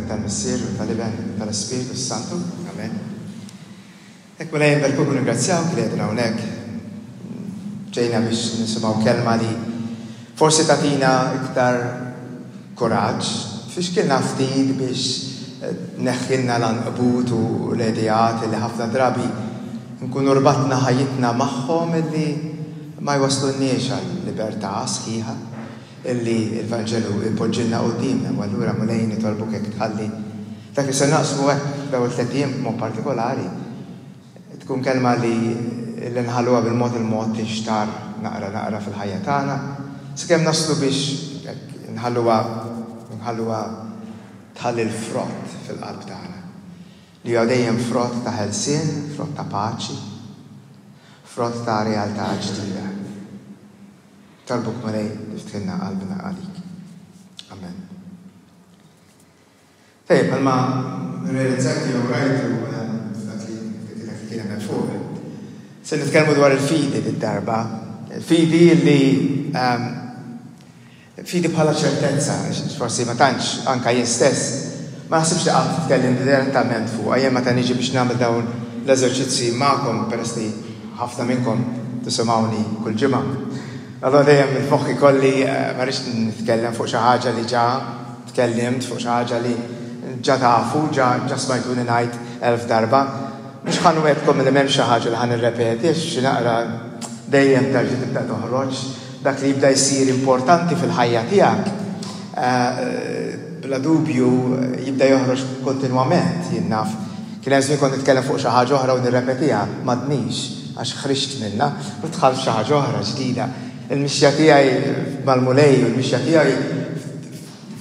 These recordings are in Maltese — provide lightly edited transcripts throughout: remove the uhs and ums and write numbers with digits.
Tal-Missier u tal-Iben u tal-Ispirtu s-Santu. Amen. Hekk Mulej nberkuk u ningrazzjawk li qegħdin hawnhekk. Ġejna biex nisimgħu kelma li forsi tagħtina iktar kuraġġ, tfixkilna ftit biex tneħħilna l-għanqbut u l-ideat li ħafna drabi nkunu rbatna ħajjitna magħhom illi ma jwasslulniex għal libertà sħiħa illi l-Vanġelu jpoġġilna quddiemna. U allura Mulej nitolbuk hekk tħalli dak li se naqsmu hekk f'dawn it-tlett ijiem b'mod partikolari tkun kelma li li nħalluha bil-mod il-mod tinxtarr naqra naqra fil-ħajja tagħna sakemm naslu biex hekk nħalluha nħalluha tħalli l-frott fil-qalb tagħna li huwa dejjem frott ta' ħelsien, frott ta' paċi, frott ta' realtà ġdida. Nitolbuk Mulej tiftħilna qalbna għalik. Amen. Tajjeb, bħalma rrealizzajtu jew rajtu f'dak li dak li kien hemm fuq. Se nitkellmu dwar il-fidi did-darba. Il-fidi li fidi bħala ċertezza, forsi ma tantx anka jien stess, ma naħsibx li qatt tkellim direttament fuqha. Jien meta niġi biex nagħmel dawn l-eżerċizzji magħkom peress li ħafna minnkom tisimgħuni kull ġimgħa. Allura dejjem il-moħħ ikolli ma rridx nitkellem fuq xi ħaġa li ġa Tkellimt fuq xi ħaġa li ġa tafu, ġa ġa smajtuni ngħid 1000 darba. Mhux ħa nwegħedkom li m'hemmx xi ħaġa li ħa nirrepeti għax xi naqra dejjem terġa' tibda toħroġ. Dak li jibda jsir importanti fil-ħajja tiegħek bla dubju jibda joħroġ kontinwament, jien naf. Kien hemm żmien kont nitkellem fuq xi ħaġa oħra u nirrepetiha, m'għadnix għax ħriġt minnha u dħalt f'xi ħaġa oħra ġdida. Il-mixja tiegħi mal-Mulej u l-mixja tiegħi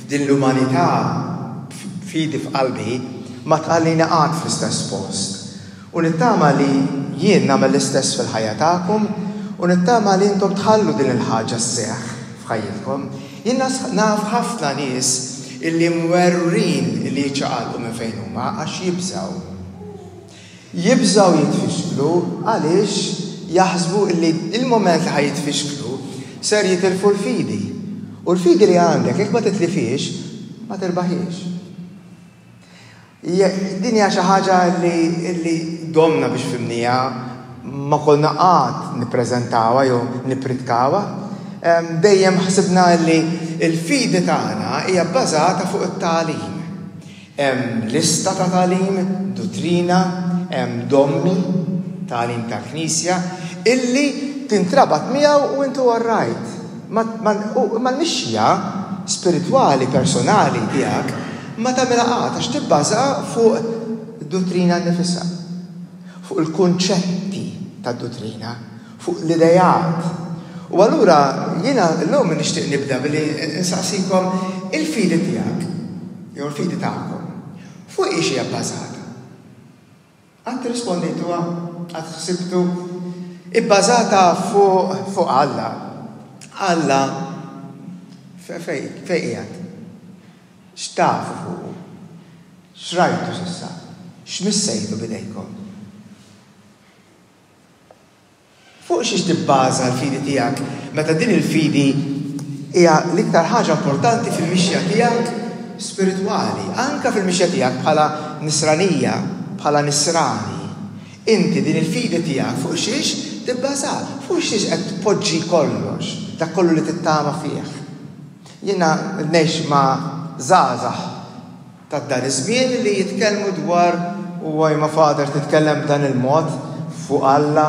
f'din l-umanità b'fidi f'qalbi ma tħallini qatt fl-istess post. U nittama li jien nagħmel l-istess fil-ħajja tagħkom u nittama li intom tħallu din il-ħaġa sseħħ f'ħajjitkom. Jien naf ħafna nies illi mwerwrin li jiċċaqalqu minn fejn huma għax jibżgħu. Jibżgħu jitfixklu għaliex jaħsbu li l-mument li ħa jitfixklu ser jitilfu l-fidi. U l-fidi li għandek jekk ma titlifhiex, ma tirbaħhiex. Din hija xi ħaġa li domna biex fhimniha, ma konna qatt nippreżentawha jew nippritkawha. Dejjem ħsibna li l-fidi tagħna hija bbażata fuq it-tagħlim. Hemm lista ta' tagħlim, duttrina, hemm dommi, tagħlim tal-Knisja, illi tintrabat miegħu u intu all right. Imma l-mixja spiritwali personali tiegħek ma tagħmilha qatt għax tibbaża fuq id-duttrina nnifisha, fuq il-kunċetti tad-duttrina, fuq l-ideat. U allura jiena llum nixtieq nibda billi nsaqsikom il-fidi tiegħek jew il-fidi tagħkom fuq hiex hija bbażata? Qatt irrispondejtuha? Qatt ħsibtu? Ibbażata fuq fuq Alla. Alla fejn qiegħed? X'tafu fuqu? X'rajtu s'issa? X'missejtu b'idejkom? Fuq xiex tibbaża l-fidi tiegħek meta din il-fidi hija l-iktar ħaġa importanti fil-mixja tiegħek spiritwali, anke fil-mixja tiegħek bħala nisranija, bħala nisrani. Inti din il-fidi tiegħek fuq xiex tibbaża? Fuq xiex qed tpoġġi kollox, dak kollu li tittama fih? Jiena ngħix ma' żgħażagħ Ta' dan iż-żmien li jitkellmu dwar u imma Father titkellem b'dan il-mod fuq Alla,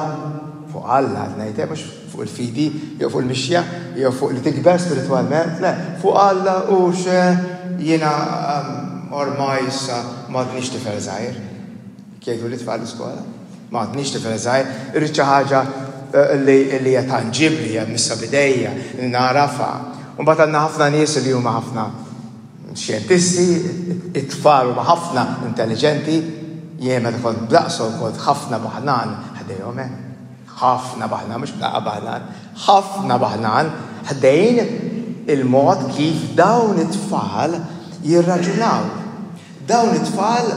fuq Alla qed ngħid, eh, mhux fuq il-fidi jew fuq il-mixja jew fuq li tikber spiritwalment, le, fuq Alla u xe jiena ehm, ormai issa m'għadnix tifel żgħir. Jgħidu li tfal l-iskola. M'għadnix tifel żgħir, irrid xi ħaġa eh, li hija tanġibbli, hija missa bidejja, li nagħrafha. U mbagħad għandna ħafna nies li huma ħafna Xjentisti, it-tfal huma ħafna intelliġenti, jien meta kont b'daqshom kont ħafna baħnan ħdejhom, eh. Ħafna baħnan, mhux b'daqqa baħnan, ħafna baħnan ħdejn il-mod kif dawn it-tfal jirraġunaw. Dawn it-tfal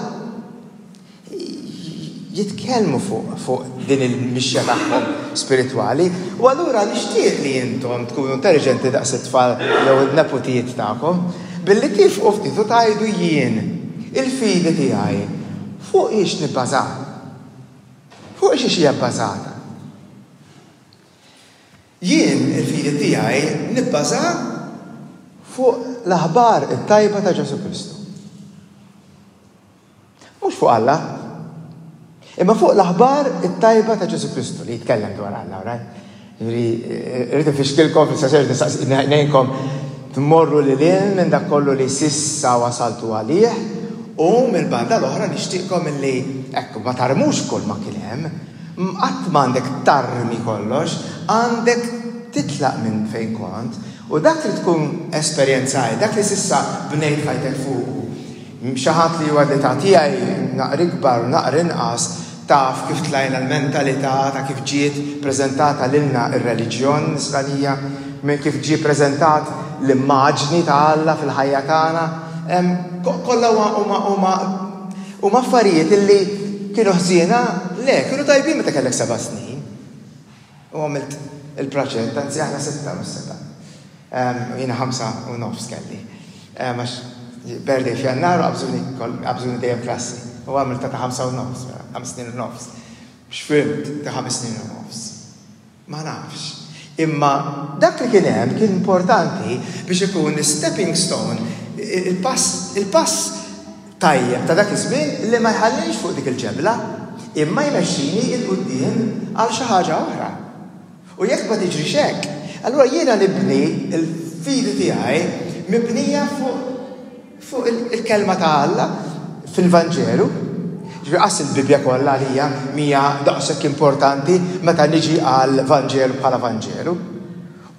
jitkellmu fuq fuq din il-mixja tagħhom spiritwali u allura nixtieq li intom tkunu intelliġenti daqs it-tfal jew in-neputijiet tagħkom billi tifqu ftit u tgħidu jien. Il-fidi tiegħi fuq hiex nibbażaha? Fuq xiex hija bbażata? Jien il-fidi tiegħi nibbaża fuq l-aħbar it-tajba ta' Ġesù Kristu. Mhux fuq Alla, imma fuq l-aħbar it-tajba ta' Ġesù Kristu li jitkellem dwar Alla, right? Jiġifieri, irrid infixkilkom fis-sens irrid ngħinkom tmorru lil hinn minn dak kollu li s'issa wasaltu għalih u mill-banda l-oħra nixtieqkom illi hekk ma tarmux kull ma kien hemm, qatt m'għandek tarmi kollox, għandek titlaq minn fejn kont u dak li tkun esperjenzajt, dak li s'issa bnejt ħajtek fuqu, Xi ħadd li huwa l-età tiegħi, naqra ikbar u naqra inqas, taf kif tlajna l-mentalità ta' kif ġiet preżentata lilna r-reliġjon Nisranija, minn kif ġie preżentat l-immaġni ta' Alla fil-ħajja tagħna. Kollha huma huma huma affarijiet illi kienu ħżiena? Le, kienu tajbin meta kellek seba' snin. U għamilt il-proġett, anzi aħna sitta mhux seba'. Jiena 5 u nofs kelli. Għax birthday f'Jannar u qabżuni dejjem klassi. U għamilt ta' 5 u nofs, 5 snin u nofs. X'fhimt ta' 5 snin u nofs? Ma nafx. Imma dak li kien hemm kien importanti biex ikun stepping stone, il-pass il-pass tajjeb ta' dak iż-żmien li ma jħallix fuq dik il-ġebla, imma jmexxini 'l quddiem għal xi ħaġa oħra. U jekk ma tiġrix hekk, allura jiena nibni l-fidi tiegħi mibnija fuq fuq il-kelma ta' Alla fil-Vanġelu. Ġifieri qas il-Bibbja kollha għalija mhija daqshekk importanti meta niġi għal Vanġelu bħala Vanġelu.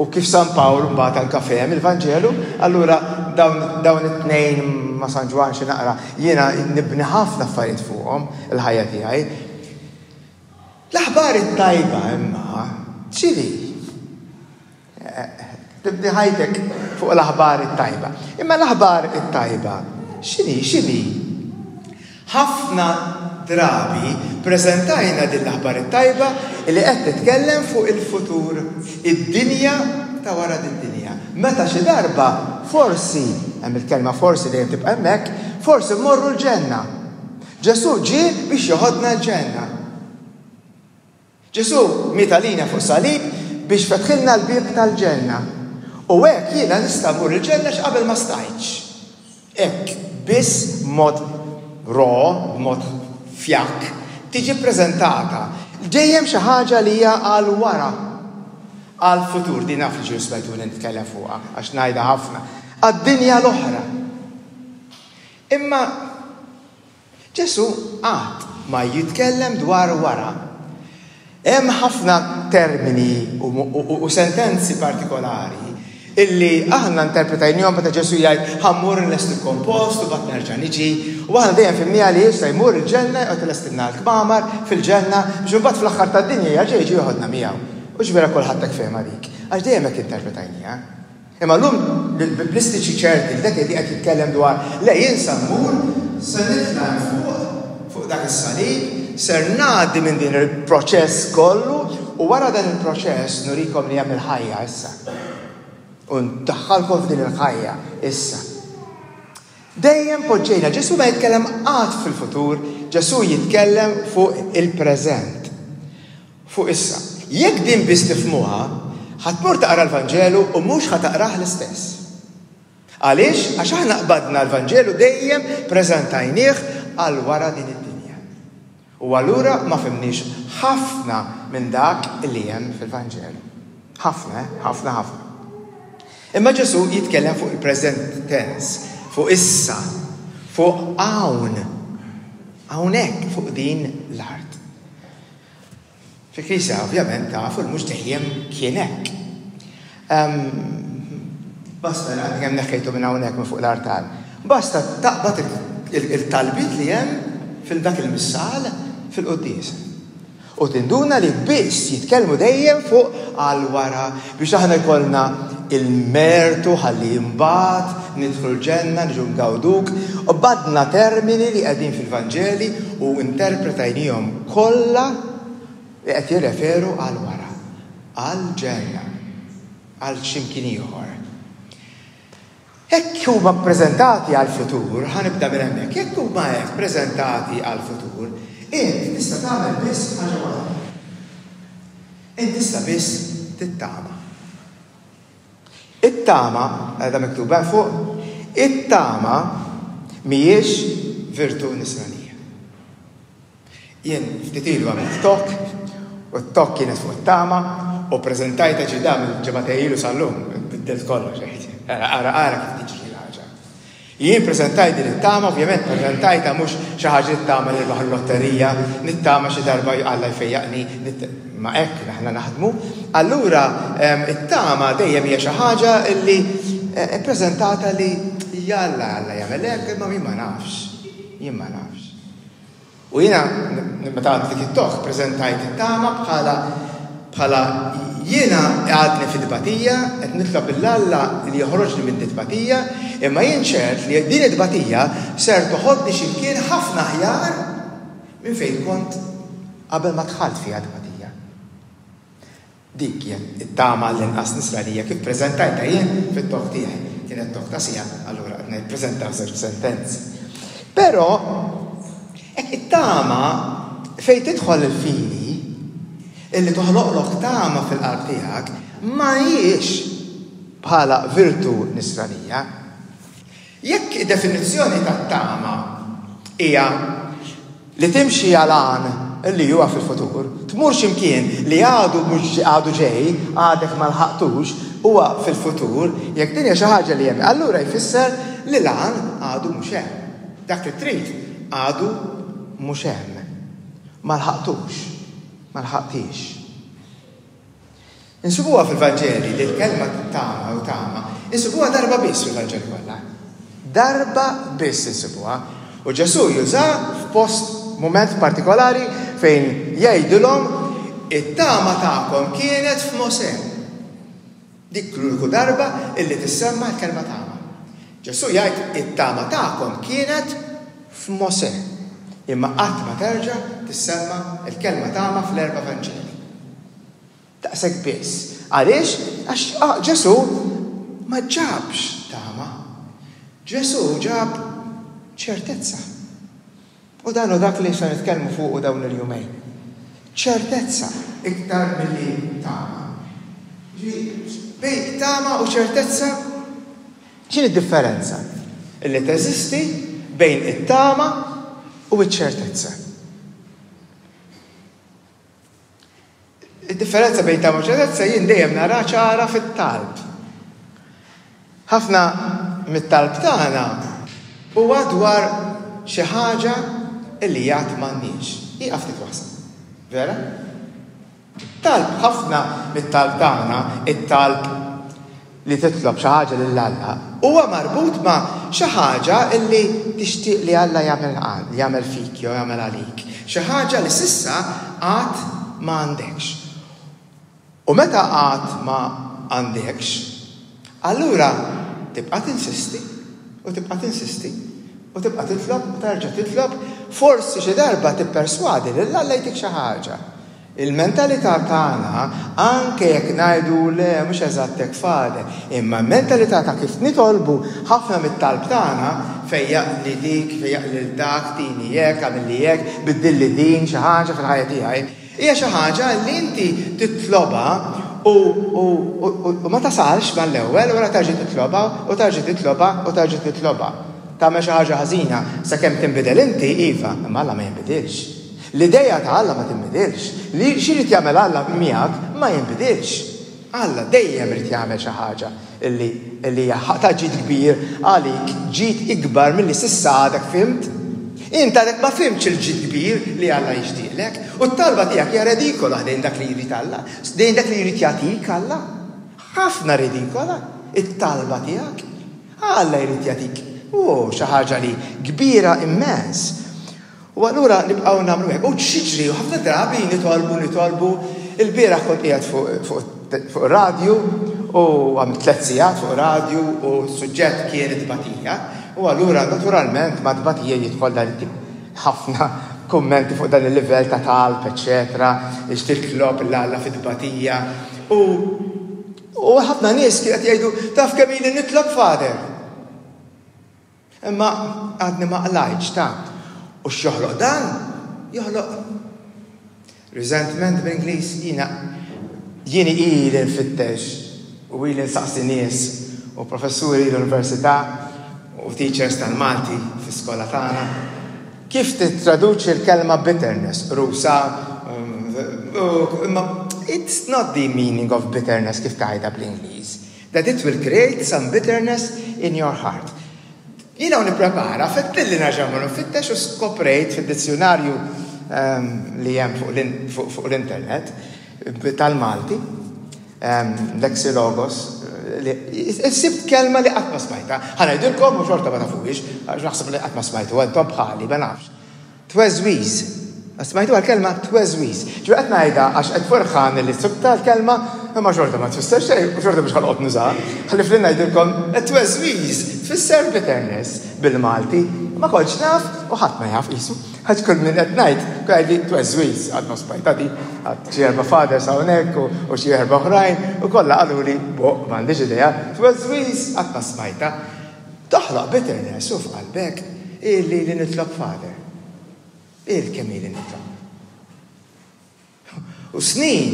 U kif San Pawl mbagħad anke fehem il-Vanġelu, allura dawn dawn it-tnejn ma' San Ġwann xi naqra jiena nibni ħafna affarijiet fuqhom il-ħajja tiegħi. L-aħbar it-tajba imma x'inhi? Tibni ħajtek fuq l-aħbar it-tajba. Imma l-aħbar it-tajba x'inhi x'inhi? Ħafna drabi preżentajna din l-aħbar it-tajba li qed titkellem fuq il-futur, id-dinja ta' wara din-dinja. Meta xi darba forsi, hemm il-kelma forsi dejjem tibqa' hemmhekk, forsi mmorru l-ġenna. Ġesù ġie biex joħodna l-ġenna. Ġesù miet għalina fuq salib biex fetħilna l-bieb tal-ġenna. U hekk jiena nista' mmur il-ġenna x'qabel ma stajtx. Hekk biss b'mod raw, b'mod fjakk, tiġi ppreżentata dejjem xi ħaġa li hija għal wara, għall-futur, din naf li ġieli smajtuni nitkellem fuqha għax ngħidha ħafna, għad-dinja l-oħra. Imma Ġesù qatt ma jitkellem dwar wara. Hemm ħafna termini u sentenzi partikolari illi aħna interpretajnihom meta Ġesù jgħid ħa mmur nlestilkom post u mbagħad nerġa' niġi. U aħna dejjem fhimniha li issa jmur il-ġenna joqgħod ilestilna l-kmamar fil-ġenna biex imbagħad fl-aħħar tad-dinja jerġa' jiġi joħodna miegħu. Hux vera kulħadd hekk fehimha dik? Għax dejjem hekk interpretajniha. Imma llum l-Biblistiċi ċerti li dak li qed jitkellem dwar le jien sa mmur, se nitla' hemm fuq, fuq dak is-salib, ser ngħaddi minn din il-proċess kollu u wara dan il-proċess nurikom li hemm il-ħajja issa. U ndaħħalkom f'din il-ħajja issa. Dejjem poġġejna, Ġesù ma jitkellem qatt fil-futur, Ġesù jitkellem fuq il-preżent. Fuq issa. Jekk din biss tifhmuha, ħa tmur taqra l-Vanġelu u mhux ħa taqrah l-istess. Għaliex? Għax aħna qbadna l-Vanġelu dejjem preżentajnieh għal wara din id-dinja. U allura ma fhimniex ħafna minn dak li hemm fil-Vanġelu. Ħafna, eh? Ħafna, ħafna. Imma Ġesù jitkellem fuq il-present tense, fuq issa, fuq hawn, hawnhekk fuq din l-art. Fil-Knisja ovvjament tafu li mhux dejjem kien hekk. Basta għadni kemm neħħejtu minn hawnhekk minn fuq l-artal. Basta taqbad il-talbiet li hemm fil-dak il-missal fil-quddies. U tinduna li biss jitkellmu dejjem fuq għal wara biex aħna jkollna il-mertu ħalli imbagħad nidħlu l-ġenna niġu ngawduk. U badna termini li qegħdin fil-Vanġeli u interpretajnihom kollha li qed jirreferu għal wara, għal ġenna, għal x'imkien ieħor. Hekk huma ppreżentati għall-futur, ħa nibda minn hemmhekk, jekk huma hekk preżentati għall-futur, int tista' tagħmel biss ħaġa waħda. Int tista' biss tittama. It-tama, qiegħda miktuba hemm fuq, it-tama mhijiex virtù nisranija. Jien ftit ilu għamilt talk u t-talk kienet fuq it-tama u ppreżentajtha ġi da minn ġimgħatej ilu sal-lum, biddilt kollox għidt. Ara ara kif tiġri l-ħaġa. Jien preżentajt din it-tama, ovvjament preżentajtha mhux xi ħaġa nittama nirbaħ il-lotterija, nittama xi darba Alla jfejjaqni, ma hekk aħna naħdmu. Allura it-tama dejjem hija xi ħaġa li ppreżentata li jalla Alla jagħmel hekk imma jien ma nafx. Jien ma nafx. U jiena meta għadt dik it-talk preżentajt it-tama bħala bħala jiena għadni fit-tbatija, qed nitlob lil Alla li joħroġni minn dit-tbatija, imma jien ċert li din it-tbatija ser toħodni xi mkien ħafna aħjar minn fejn kont qabel ma dħalt fiha t-tbatija. Dik kienet it-tama għall-inqas nisranija kif preżentajtha jien fit-talk tiegħi. Kienet talk ta' siegħa, allura qed nippreżenta f'żewġ sentenzi. Però hekk it-tama fejn tidħol il-fidi, illi toħloqlok tama fil-qalb tiegħek, ma hijiex bħala virtù nisranija. Jekk id-definizzjoni tat-tama hija li timxi għal għan li huwa fil-futur, tmur xi mkien li għadu mhux għadu ġej, għadek ma lħaqtux, huwa fil-futur, jekk din hija xi ħaġa li hemm, allura jfisser li l-għan għadu mhux hemm. Dak li trid għadu mhux hemm. Ma lħaqtux. Ma lħaqtix. Insibuha fil-Vanġeli li l-kelma tama u tama, insibuha darba biss fil-Vanġeli kollha. Darba biss insibuha. U Ġesù juża f'post mument partikolari fejn jgħidilhom it-tama tagħkom kienet f'Mosè. Dik l-uniku darba illi tissemma l-kelma tama. Ġesù jgħid it-tama tagħkom kienet f'Mosè. Imma qatt ma terġa' tissemma l-kelma tama fl-erba' Vanġeli. Daqshekk biss. Għaliex? Għax Ġesù ma ġabx tama. Ġesù ġab ċertezza. U dan hu dak li se nitkellmu fuqu dawn il-jumejn. Ċertezza iktar milli tama. Ġifieri, bejn tama u ċertezza x'inhi d-differenza li teżisti bejn it-tama u ċ-ċertezza? Id-differenza bejn tama u ċertezza jien dejjem nara ċara fit-talb. Ħafna mit-talb tagħna huwa dwar xi ħaġa li għad m'għandniex. Ieqaf ftit waħseb. Vera? Talb ħafna mit-talb tagħna, it-talb li titlob xi ħaġa lil Alla, huwa marbut ma' xi ħaġa li tixtieq li Alla jagħmel jagħmel fik jew jagħmel għalik. Xi ħaġa li s'issa għad ma għandekx. U meta għad ma għandekx, allura tibqa' tinsisti u tibqa' tinsisti u tibqa' titlob u terġa' titlob, forsi xi darba tipperswadi lil Alla jtik xi ħaġa. Il-mentalità tagħna, anke jekk ngħidu le mhux eżatt hekk Father, imma l-mentalità ta' kif nitolbu ħafna mit-talb tagħna, fejjaqli dik, fejjaqli lil dak, tini hekk, agħmilli hekk, biddilli din, xi ħaġa fil-ħajja tiegħi, hija xi ħaġa li inti titlobha u u u ma tasalx mal-ewwel u wara terġa' titlobha u terġa' titlobha u terġa' titlobha. Tagħmel xi ħaġa ħażina sakemm tinbidel inti, iva, imma Alla ma jinbidilx. L-ideja ta' Alla ma tinbidilx. Li x'irid jagħmel Alla miegħek ma jinbidilx. Alla dejjem irid jagħmel xi ħaġa li li hija ta' ġid kbir għalik, ġid ikbar milli s'issa għadek fhimt. Int għadek ma fhimtx il-ġid kbir li Alla jixtieqlek, u t-talba tiegħek hija redikola ħdejn dak li jrid Alla, ħdejn dak li jrid jagħtik Alla. Ħafna redikola it-talba tiegħek. Alla jrid jagħtik, oh, xi ħaġa li kbira immens. U allura nibqgħu nagħmlu hekk. U x'jiġri? U ħafna drabi nitolbu, nitolbu. Il-bieraħ kont qiegħed fuq radju u għamilt tliet sigħat fuq radju u s-suġġett kien it-tbatija. U allura naturalment ma' tbatija jidħol dan it-tip ħafna kummenti fuq dan il-livell ta' talb, eċċetera, biex titlob 'l Alla fit-tbatija. U u ħafna nies kien qed jgħidu taf kemm ili nitlob Father. Imma għadni ma qlajtx ta. U x'joħloq dan? Joħloq resentment bl-Ingliż jiena jien ili nfittex u ili nsaqsi nies u professuri l-università u teachers tal-Malti fl-iskola tagħna kif tittraduċi l-kelma bitterness, qrusa, imma it's not the meaning of bitterness kif tgħidha bl-Ingliż. That it will create some bitterness in your heart. Jiena u nipprepara, fettilli nerġa' mmur nfittex u skoprejt fid-dizzjunarju ehm, li hemm fuq l-internet tal-Malti, ehm, Lexilogos, sibt kelma li qatt ma smajta. Ħa ngħidilkom u xorta ma tafuhiex, għax naħseb li qatt ma smajtu, intom bħali, ma nafx. Tweżwiż. Smajtuha l-kelma tweżwiż. Ġifieri qed ngħidha għax qed ferħan li sibtha l-kelma, imma xorta ma tfisser xejn u xorta mhux ħa noqgħod nużaha. Ħlief li ngħidilkom tweżwiż tfisser bitterness bil-Malti. Ma kontx naf u ħadd ma jaf qisu. Għax kull min qed ngħid, jgħidli tweżwiż, għad ma smajtha di, għad xi erba' fathers hawnhekk u xi erba' oħrajn u kollha qaluli, boh, m'għandix idea, tweżwiż qatt ma smajtha. Toħloq bitterness u f'qalbek ili li nitlob Father. Il kemm ili nitlob. U snin,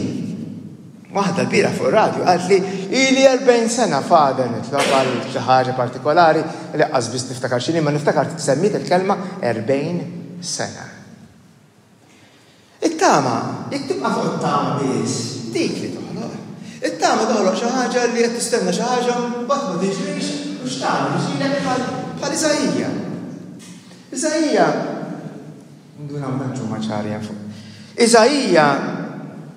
waħda l-bieraħ fuq ir-radju qaltli ili 40 sena Father nitlob għal xi ħaġa partikolari li qas biss niftakar x'inhi ma niftakar semmiet il-kelma 40 sena. It-tama, jekk tibqa' fuq it-tama biss, dik li toħloq. It-tama toħloq xi ħaġa li qed tistenna xi ħaġa mbagħad ma tiġrix u x'tagħmel? Jiġrilek bħal bħal Iżaija. Iżaija ndunaw tant huma ċari hemm fuq. Iżaija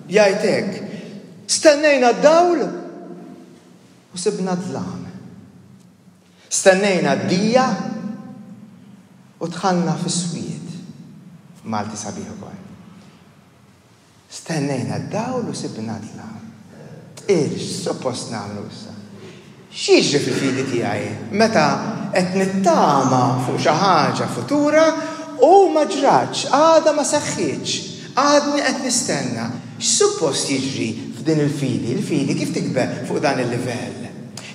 jgħid hekk, stennejna d-dawl u sibna d-dlam. Stennejna d-dija u dħalna fis-swied. Malti sabiħ ukoll. Stennejna d-dawl u sibna d-dlam. Il x'suppost nagħmlu issa? X'jiġri fil-fidi tiegħi meta qed nittama fuq xi ħaġa futura u ma ġratx, għadha ma seħħitx, għadni qed nistenna. X'suppost jiġri f'din il-fidi? Il-fidi kif tikber fuq dan il-livell?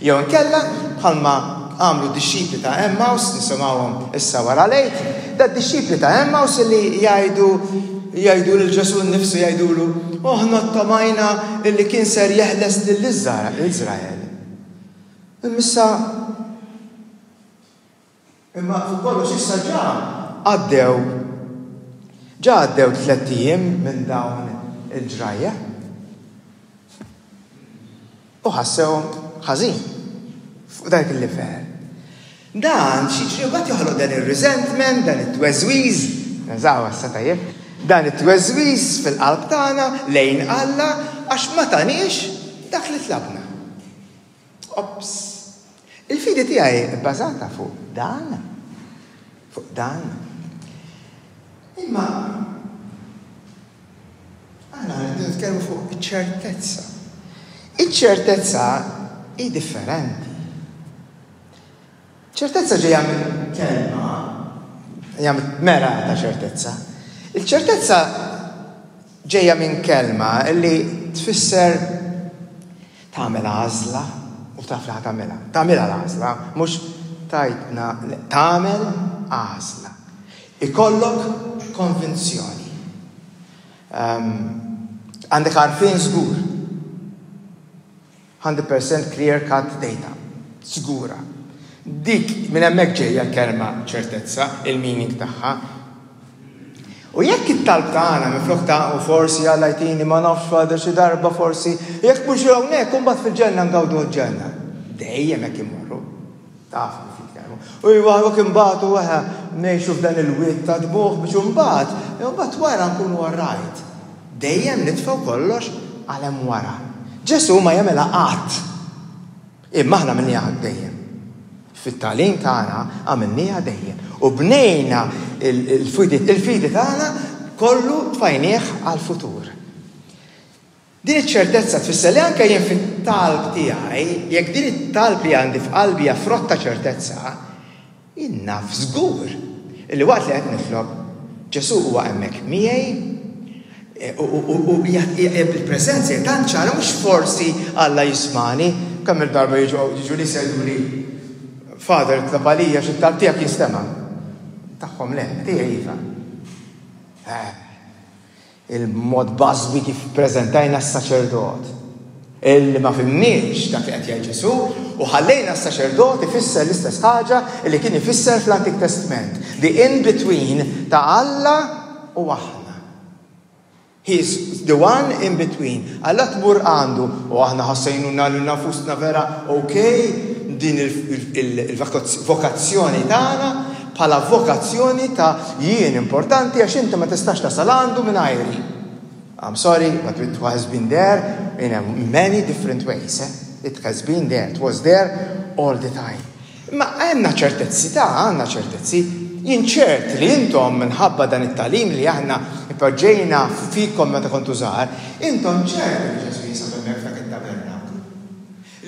Jew inkella, bħalma għamlu d-dixxipli ta' Emmaus, nisimgħuhom issa wara l-Għid, dad-dixxipli ta' Emmaus li jgħidu jgħidu lil Ġesù nnifsu jgħidulu, aħna ttamajna illi kien ser jeħles lil Iżrael. Imma issa Imma fuq kollox issa ġa għaddew ġa għaddew tlett ijiem minn dawn il-ġrajja. U ħassewhom ħażin fuq dak il-livell. Dan xi mbagħad joħloq dan ir-resentment, dan it-tweżwiż, nażaw issa tajjeb, dan it-tweżwiż fil-qalb tagħna lejn Alla għax ma taniex dak li tlabna. Ops! Il-fidi tiegħi bbażata fuq dan. Fuq dan. Imma aħna rridu nitkellmu fuq iċ-ċertezza. Iċ-ċertezza hi differenti. Ċertezza ġejja minn kelma, hija mera ta' ċertezza. Il-ċertezza ġejja minn kelma li tfisser Tagħmel għażla u taf li ħa tagħmilha. Tagħmilha l-għażla, mhux tgħidna tagħmel għażla. Ikollok konvinzjoni. Ehm, għandek għarfien żgur. 100% clear cut data. Żgura. Dik minn hemmhekk ġejja l-kelma ċertezza, il-meaning tagħha. U jekk it-talb tagħna minflok ta' u forsi Alla jtini ma nafx Father xi darba forsi, jekk mhux hawnhekk u mbagħad fil-ġenna ngawdu l-ġenna. Dejjem hekk immorru. Taf kif jitkellmu. U iva jekk imbagħad u eħe ngħixu f'dan il-wied ta' dmugħ biex imbagħad, imbagħad wara nkunu all right. Dejjem nitfgħu kollox għal hemm wara. Ġesù ma jagħmilha qatt. Imma aħna għamilniha dejjem. Fit-tagħlim tagħna għamilniha dejjem. U bnejna il-fidi tagħna kollu tfajnieh għall-futur. Din iċ-ċertezza tfisser li anke jien fit-talb tiegħi, jekk din it-talb li għandi f'qalbi hija frott ta' ċertezza, Jien naf żgur li waqt li qed nitlob, Ġesù huwa hemmhekk miegħi u il-preżenza hija tant ċara mhux forsi Alla jismagħni, kemm-il darba jiġu nies jgħiduli. Father itlob għalija xi talb tiegħek jinstema'. Tagħhom le, tiegħi iva. Eh, il-mod bażwi kif preżentajna s-saċerdot. Illi ma fimniex dak li qed jgħid Ġesù u ħallejna s-saċerdot ifisser l-istess ħaġa li kien ifisser fl-Antik Testament. The in-between ta' Alla u aħna. He is the one in between. Alla tmur għandu u aħna ħassejnuna lilna nfusna vera ok din il-vokazzjoni tagħna bħala vokazzjoni ta' jien importanti għax inti ma tistax tasal għandu mingħajri. I'm sorry, but it has been there in many different ways. Eh? It has been there. It was there all the time. Imma għandna ċertezzi, ta' għandna ċertezzi. Jien ċert li intom minħabba dan it-tagħlim li aħna poġġejna fikom meta kontu żgħar, intom ċert li Ġesù jinsab hemmhekk f'dak it-tabernaklu.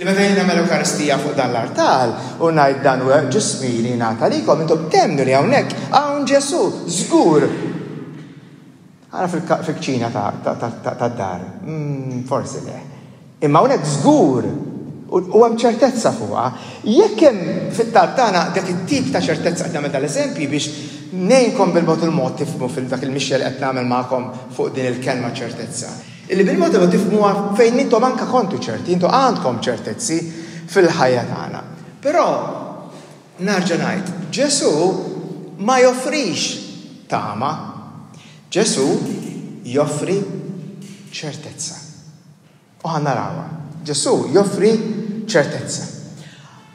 Li meta jien nagħmel Ewkaristija fuq dan l-artal u ngħid dan huwa ġismi li jingħata lilkom, intom temmnu li hawnhekk hawn Ġesù, żgur. Ara fil-kċina tad-dar, forsi le. Imma hawnhekk żgur u hemm ċertezza fuqha. Jekk hemm fit-talb tagħna dak it-tip ta' ċertezza qed nagħmel dal-eżempji biex ngħinkom bil-mod il-mod tifhmu fil dak il-mixja li qed nagħmel magħkom fuq din il-kelma ċertezza. Illi bil-mod il-mod tifhmuha fejn intom anke kontu ċerti, intom għandkom ċertezzi fil-ħajja tagħna. Però Nerġa' ngħid, Ġesù ma joffrix tama. Ġesù joffri ċertezza. U ħa narawha. Ġesù joffri ċertezza.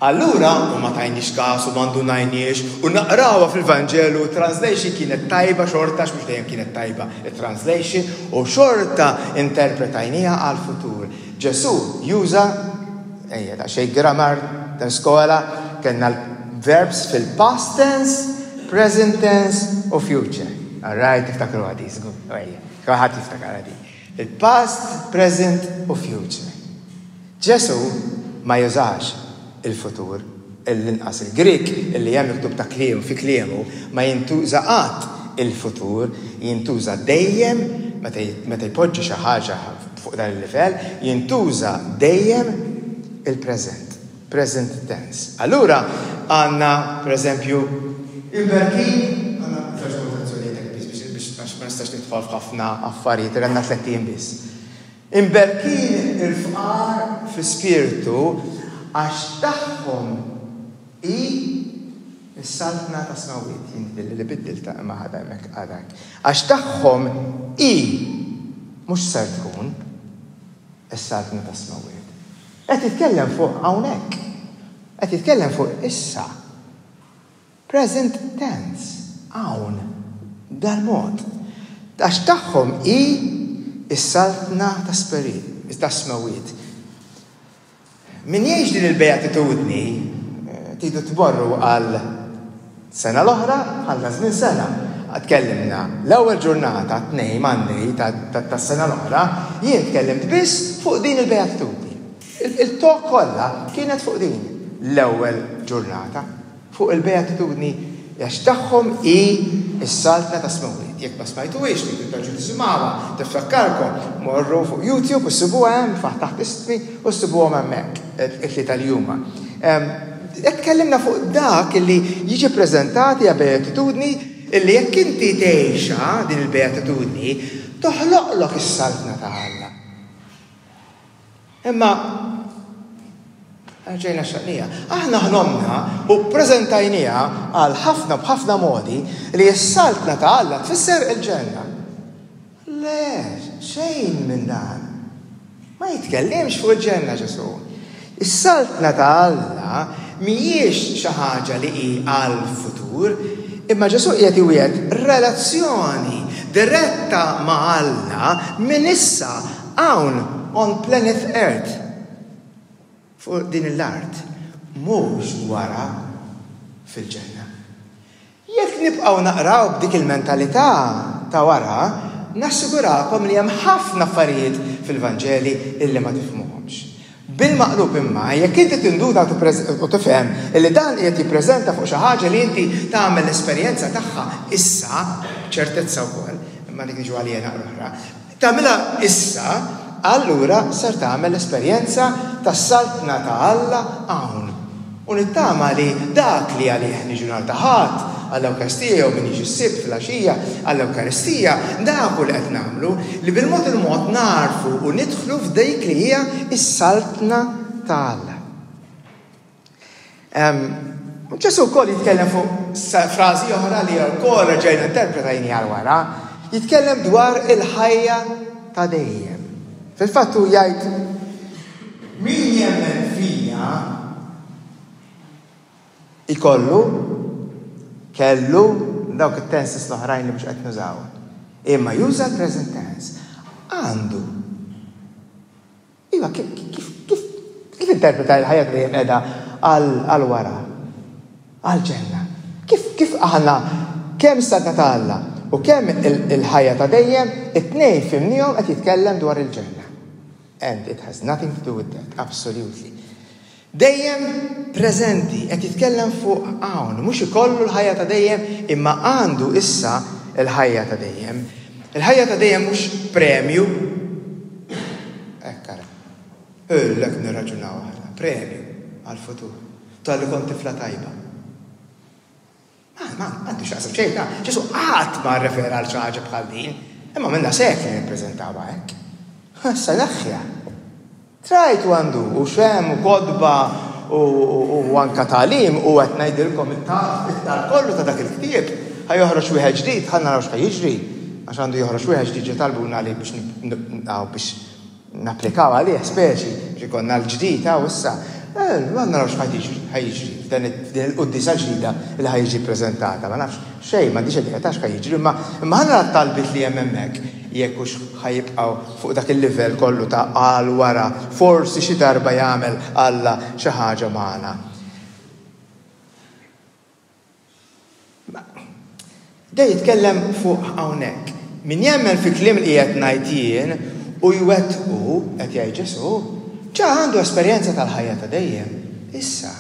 Allura, u ma tajniex każ u ma ndunajniex, u naqrawha fil-Vanġelu, translation kienet tajba xorta, għax mhux dejjem kienet tajba it-translation, u xorta interpretajnieha għall-futur. Ġesù juża, ejja daqsxejn grammar tal-skola, kellna l-verbs fil-past tense, present tense u future. All right, tiftakruha di, żgur. Ejja, kulħadd jiftakarha di. Il-past, present u future. Ġesù ma jużax il-futur, l-inqas il-Grieg illi hemm miktub ta' kliem fi kliemu ma jintuża qatt il-futur, jintuża dejjem meta jpoġġi xi ħaġa fuq dan il-livell, jintuża dejjem il-preżent, present tense. Allura għandna, pereżempju, imberkin, għandna żewġ kwotazzjonijiet hekk biss biex għax ma nistax nidħol f'ħafna affarijiet, għandna tlett ijiem biss. Imberkin il-fqar fl-ispirtu għax tagħhom hi s-saltna tas-smewwiet. Jien jidhirli li biddiltha imma ħadha hemmhekk għadha hekk. Għax tagħhom hi, mhux ser tkun, is-saltna tas-smewwiet. Qed jitkellem fuq hawnhekk. Qed jitkellem fuq issa. Present tense, hawn, b'dal-mod. Għax tagħhom hi s-saltna tas-smewwiet. Min jgħix din il-beatitudni, tridu tmorru għal sena l-oħra, bħalna żmien sena. Tkellimna l-ewwel ġurnata, t-Tnejn, Monday, tas-sena l-oħra, jien tkellimt biss fuq din il-beatitudni. Il-talk kollha kienet fuq din l-ewwel ġurnata. Fuq il-beatitudni għax tagħhom hi s-saltna tas-smewwiet. Jekk ma smajtuhiex, tridu terġgħu tisimgħuha, tiftakkarkom, morru fuq YouTube u ssibuha hemm, taħt ismi u ssibuhom hemmhekk, it-tlieta li huma. Qed tkellimna fuq dak li jiġi ppreżentat hija beatitudni illi jekk inti tgħixha din il-beatitudni, toħloqlok is-saltna ta' Alla. Imma ġejna xaqnija. Aħna ħlomna u ppreżentajniha għal ħafna b'ħafna modi li s-saltna ta' Alla tfisser il-ġenna. Le, xejn minn dan. Ma jitkellimx fuq il-ġenna Ġesù. Is-saltna ta' Alla mhijiex xi ħaġa li hi għall-futur, imma Ġesù qiegħed iwiegħed relazzjoni diretta ma' Alla minn issa Hawn, on planet Earth, fuq din l-art, mhux wara fil-ġenna. Jekk nibqgħu naqraw b'dik il-mentalità ta' wara, nassigurakom li hemm ħafna affarijiet fil-Vanġeli illi ma tifhmuhomx. Bil-maqlub imma, jekk inti tinduna u tifhem illi dan qiegħed jippreżenta fuq xi ħaġa li inti tagħmel l-esperjenza tagħha issa, b'ċertezza wkoll, imma dik niġu għaliha naqra oħra, Tagħmilha issa, allura ser tagħmel l-esperjenza tas-Saltna ta' Alla hawn. U nittama li dak li għalih niġu nhar ta' Ħadd għall-Ewkaristija jew min jiġi s-Sibt filgħaxija għall-Ewkaristija, dak hu li qed nagħmlu, li bil-mod il-mod nagħrfu u nidħlu f'dik li hija s-Saltna ta' Alla. Ġesù wkoll jitkellem fuq frażi oħra li wkoll reġgħajna interpretajni għal wara, jitkellem dwar il-ħajja ta' dejjem. Fil-fatt hu jgħid min jemmen fija ikollu kellu dawk it-tenses l-oħrajn li mhux qed nużaw. Imma juża l-present tense. Għandu Iva, kif, kif, kif, kif interpreta l-ħajja ta' dejjem qiegħda għal wara? Għall-ġenna. Kif, kif aħna kemm is-Saltna ta' Alla u kemm il-ħajja ta' dejjem, it-tnejn fhimnihom qed jitkellem dwar il-ġenna. And it has nothing to do with that, absolutely. Dejjem preżenti, qed jitkellem fuq hawn, mhux ikollu l-ħajja ta' dejjem imma għandu issa l-ħajja ta' dejjem. Il-ħajja ta' dejjem mhux premju. Hekk ara. Hekk nirraġunaw aħna, premju għall-futur. Talli kont tifla tajba. Ma, ma, għandu x'jaqsam xejn ta' Ġesù qatt ma rrefera għal xi ħaġa bħal din. Imma minna sekli nippreżentawha hekk. Issa neħħiha. Try to undo u x'hemm u kotba u anka tagħlim u qed ngħidilkom it-talb kollu ta' dak il-ktieb ħa joħroġ wieħed ġdid ħa naraw x'ħa jiġri għax għandu joħroġ wieħed ġdid ġie talbuna li biex biex napplikaw għalih speċi biex ikollna l-ġdid hawn issa. Ma naraw x'ħa jiġri f'din il-quddiesa ġdida li ħa jiġi ppreżentata. Ma nafx xejn, m'għandix idea ta' x'ħa jiġri, imma imma ħa nara t-talbiet li hemm hemmhekk jekk hux ħa jibqgħu fuq dak il-livell kollu ta' għal wara forsi xi darba jagħmel Alla xi ħaġa magħna. Da jitkellem fuq hawnhekk. Min jemmen fi kliem li qiegħed ngħid jien u jwettqu, qed jgħid Ġesù, ġa għandu esperjenza tal-ħajja ta' dejjem. Issa,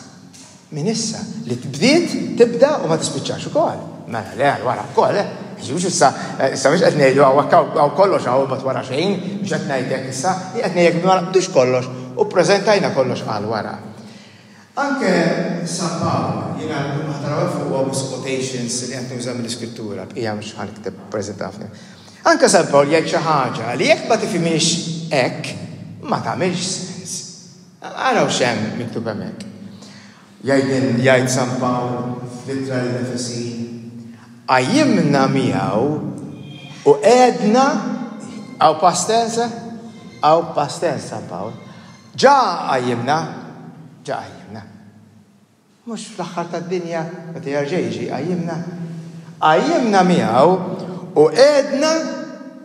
minn issa, li bdiet, tibda u ma tispiċċax ukoll. Mela le, għal wara wkoll, eh. Mhux issa, issa mhux qed ngħidu hawn hawn kollox hawn imbagħad wara xejn, mhux qed ngħid hekk issa, qed ngħid ma naqbdux kollox u ppreżentajna kollox għal wara. Anke San Pawl, jiena kull ma ħa taraw hemm fuq huwa biss quotations li qed nuża mill-Iskrittura, l-bqija mhux ħa nikteb preżentafni. Anke San Pawl jgħid xi ħaġa li jekk ma tifhimhiex hekk, ma tagħmilx sens. Araw x'hemm miktub hemmhekk. Jgħid jgħid San Pawl fl-ittra lill-Efesin, Qajjimna miegħu u qegħedna, hawn past tense, hawn past tense San Pawl, Ġa qajjimna, ġa qajjimna. Mhux fl-aħħar tad-dinja meta jerġa' jiġi jqajjimna. Qajjimna miegħu u qegħedna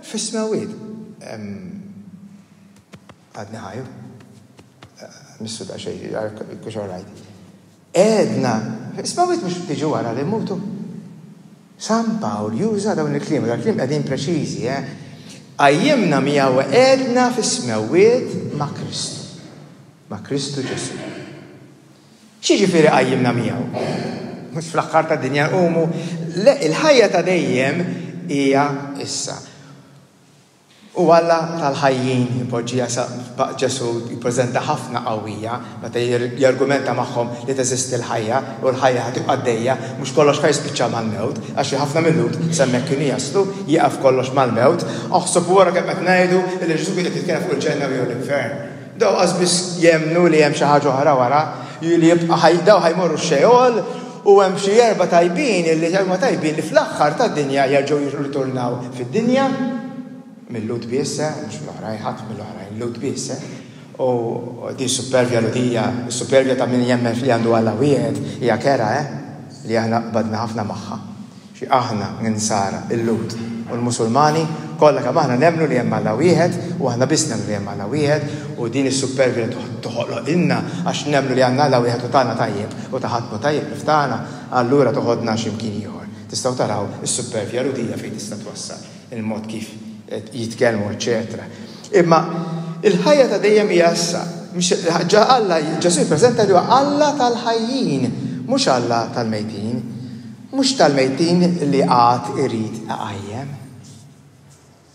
fis-smewwiet. Għadni ħajju. Missu daqsxejn, kux all right. Għedna, is-smewwiet mhux tiġi wara li mmutu. San Pawl juża dawn il-kliem, dawn il-kliem qegħdin preċiżi, eh? Qajjimna miegħu qegħedna fis-smewwiet ma' Kristu. Ma' Kristu Ġesù. X'jiġifieri qajjimna miegħu? Mhux fl-aħħar tad-dinja nqumu. Le, il-ħajja ta' dejjem hija issa. U Alla tal-ħajjin ipoġġiha sa Ġesù jippreżenta ħafna qawwija meta jargumenta magħhom li teżisti l-ħajja u l-ħajja ħa tibqa' għaddejja, mhux kollox ħa jispiċċa mal-mewt, għax xi ħafna mil-Lhud s'hemmhekk kienu jaslu, jieqaf kollox mal-mewt. Aħseb u ara kemm qed ngħidu li Ġesù kien qed jitkellem fuq il-ġenna jew l-infern. Dawn qas biss jemmnu li hemm xi ħaġa oħra wara, li jibqa' ħaj, dawn ħa jmorru x-Xeol u hemm xi erba' tajbin li huma tajbin li fl-aħħar tad-dinja jerġgħu jirritornaw fid-dinja, mil-Lhud biss, eh, mhux mill-oħrajn, ħadd mill-oħrajn, Lhud biss, eh. U din supervja Lhudija, is-supervja ta' min jemmen f'li għandu Alla wieħed hija kerha, eh, li aħna qbadna ħafna magħha. Xi aħna, l-Insara, il-Lhud u l-Musulmani, kollha kemm aħna nemmnu li hemm Alla wieħed u aħna biss nemmnu li hemm Alla wieħed u din is-suppervja li toħloqilna għax nemmnu li għandna Alla wieħed u tagħna tajjeb u ta' ħadd mhu tajjeb ħlief tagħna, allura toħodna xi mkien ieħor. Tistgħu taraw is-suppervja Lhudija fejn tista' twassal, il-mod kif jitkellmu eċċetera. Imma il-ħajja ta' dejjem hija issa. Alla, Ġesù jippreżenta li huwa Alla tal-ħajjin, mhux Alla tal-mejtin. Mhux tal-mejtin li għad irid iqajjem.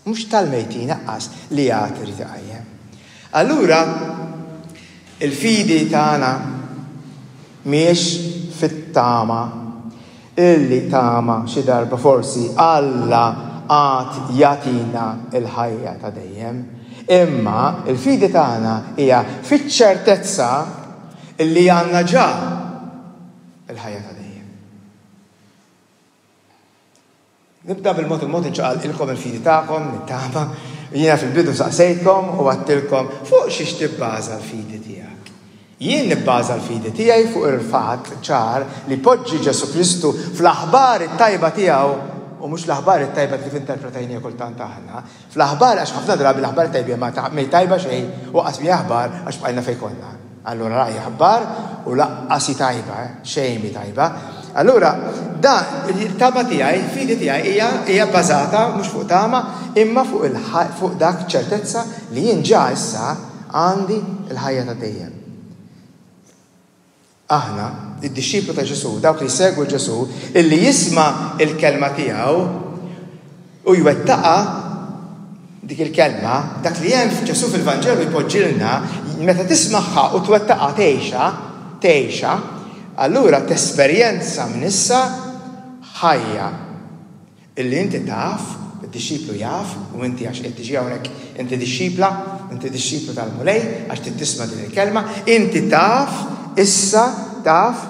Mhux tal-mejtin aqqas li għad irid iqajjem. Allura, il-fidi tagħna. Mhijiex fit-tama illi tama xi darba forsi Alla għad jagħtina l-ħajja ta' dejjem. Imma l-fidi tagħna hija fiċ-ċertezza illi għandna ġa l-ħajja ta' dejjem. Nibda bil-mod il-mod inċaqalqilkom il-fidi tagħkom, nittama. Jiena fil-bidu saqsejtkom u għedtilkom fuq xiex tibbaża l-fidi tiegħek. Jien nibbaża l-fidi tiegħi fuq il-fatt ċar li poġġi Ġesù Kristu fl-aħbar it-tajba tiegħu u mhux l-aħbar it-tajba kif interpretajniha kultant aħna. Fl-aħbar għax ħafna drabi l-aħbar tajba ma m'hi tajba xejn u qas mhi aħbar għax bqajna fejn konna. Allura la hi aħbar u laqqas hi tajba, eh, xejn mhi tajba. Allura da il-tama tiegħi, il-fidi tiegħi hija hija bbażata mhux fuq tama imma fuq il fuq dak ċertezza li jien ġa issa għandi l-ħajja ta' dejjem. Aħna, id-dixxiplu ta' Ġesù, dawk li jsegwu Ġesù, illi jisma' l-kelma tiegħu u jwettaqha dik il-kelma, dak li hemm f'Ġesù fil-Vanġelu jpoġġilna, meta tismagħha u twettaqha tgħixha, tgħixha, allura tesperjenza minn issa ħajja Illi inti taf, id-dixxiplu jaf, u inti għax qed tiġi hawnhekk inti dixxipla, inti dixxiplu tal-Mulej għax trid tisma' din il-kelma, inti taf, issa taf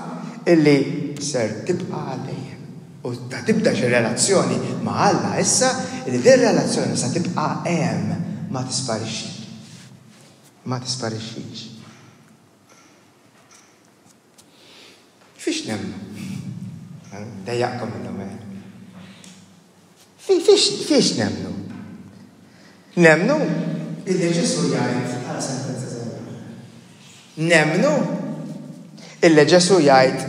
illi ser tibqa' għal dejjem. U ta' tibda xi relazzjoni ma' Alla issa illi din relazzjoni sa tibqa' hemm ma tisparixxi. Ma tisparixxix. Fiex nemmnu? Dejjaqkom illum, eh? Fiex, fiex nemmnu? Nemmnu illi Ġesù jgħid għal sentenza żgħira. Nemmnu illi Ġesù jgħid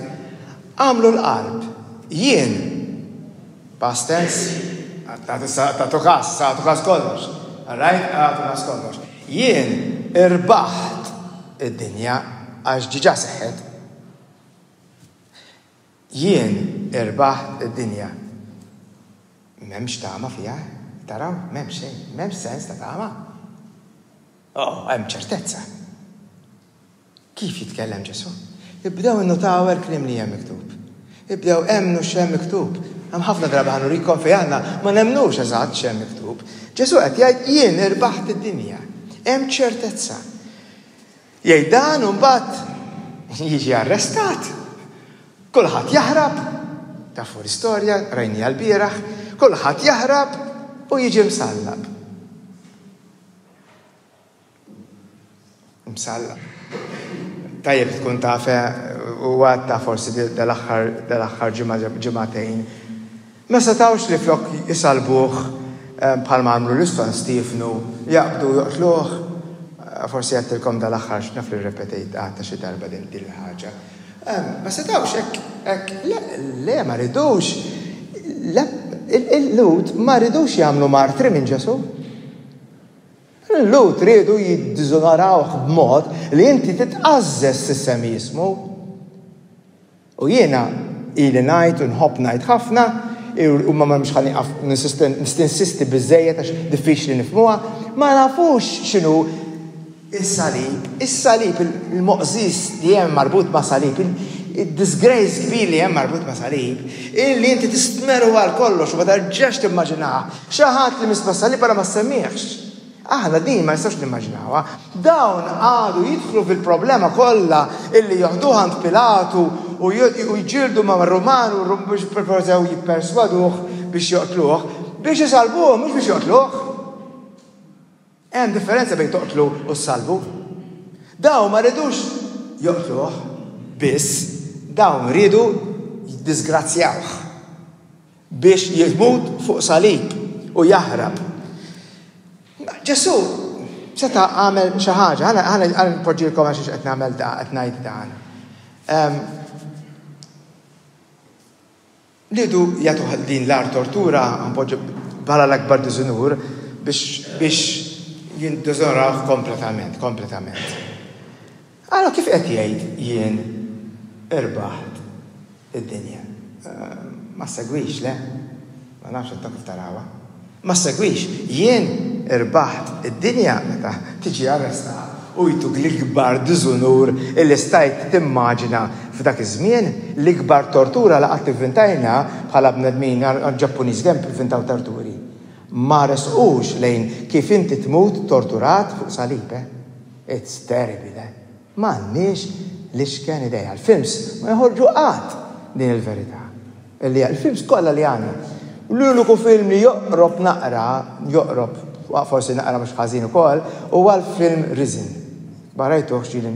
għamlu l-qalb jien past tense tagħtu kas, tagħtu kas kollox. All right, tagħtu kas kollox. Jien irbaħt id-dinja għax diġà seħħet. Jien irbaħt id-dinja. M'hemmx tama fiha, taraw, m'hemmx xejn, m'hemmx sens ta' tama. Oh, hemm ċertezza. Kif jitkellem Ġesù? Ibdew innutaw il-kliem li hemm miktub. Ibdew emmnu x'hemm miktub. Hemm ħafna drabi ħa nurikom fejn aħna ma nemmnux eżatt x'hemm miktub. Ġesù qed jgħid jien irbaħt id-dinja. Hemm ċertezza. Jgħid dan u mbagħad jiġi arrestat. Kulħadd jaħrab, tafu l-istorja, rajniha lbieraħ, kulħadd jaħrab u jiġi msallab. Msallab. Tajjeb tkun taf eh, u għadta forsi dal-aħħar dal-aħħar ġimgħa ġimagħtejn. Ma setgħux li flok isalbuh eh, bħalma għamlu lil San Stiefnu, jaqbdu joqtluh. Eh, forsi għedtilkom dal-aħħar x'naf li rrepetejt għadta xi darba din din il-ħaġa. Ma setgħux hekk hekk le, le ma ridux. Il-Lhud ma ridux jagħmlu martri minn Ġesù. Il-Lhud riedu jiddiżonorawh b'mod li inti titqażżeż tissemmi ismu. U jiena ili ngħid u nħobb ngħid ħafna, u ma mhux ħa nieqaf ninsisti biżżejjed għax diffiċli nifhmuha, ma nafux x'inhu is-salib, is-salib, il-moqżież li hemm marbut ma' salib, id-disgrace kbir li hemm marbut ma' salib, illi inti tistmerru għal kollox u ma terġax timmaġinah. Xi ħadd li miss ma' salib ara ma ssemmihx. Aħna din ma nistgħux nimmaġinawha. Dawn qagħdu jidħlu fil-problema kollha illi joħduh għand Pilatu u jġieldu ma' Ruman u biex jipprovaw jipperswaduh biex joqtluh, biex isalbuh mhux biex joqtluh. Hemm differenza bejn toqtlu u ssalbu. Dawn ma ridux joqtluh biss, dawn riedu jiddisgrazzjawh biex jmut fuq salib u jaħrab. Ġesù seta' għamel xi ħaġa, ħa npoġġilkom għax qed nagħmel qed ngħid dan. Riedu jagħtuh din l-agħar tortura, npoġġu bħala l-akbar diżunur, biex biex jiddiżonorawh kompletament, kompletament. Ara kif qed jgħid jien irbaħt id-dinja. Ma ssegwix, le? Ma nafx intom kif tarawha. Ma ssegwix. Jien irbaħt id-dinja meta tiġi arrestat u jtuk l-ikbar diżunur illi stajt timmaġina f'dak iż-żmien, l-ikbar tortura li qatt ivvintajna bħala bnedmin, Ġappuniżi kemm ivvintaw torturi. Ma resqux lejn kif inti tmut torturat fuq salib, eh. It's terrible, eh. M'għandniex l-iċken idea. Il-films ma joħorġu qatt din il-verità. Illi il-films kollha li għandna. L-uniku film li joqrob naqra, joqrob forsi naqra mhux ħażin ukoll, huwa l-film Risen. Ma rajtuhx ġieli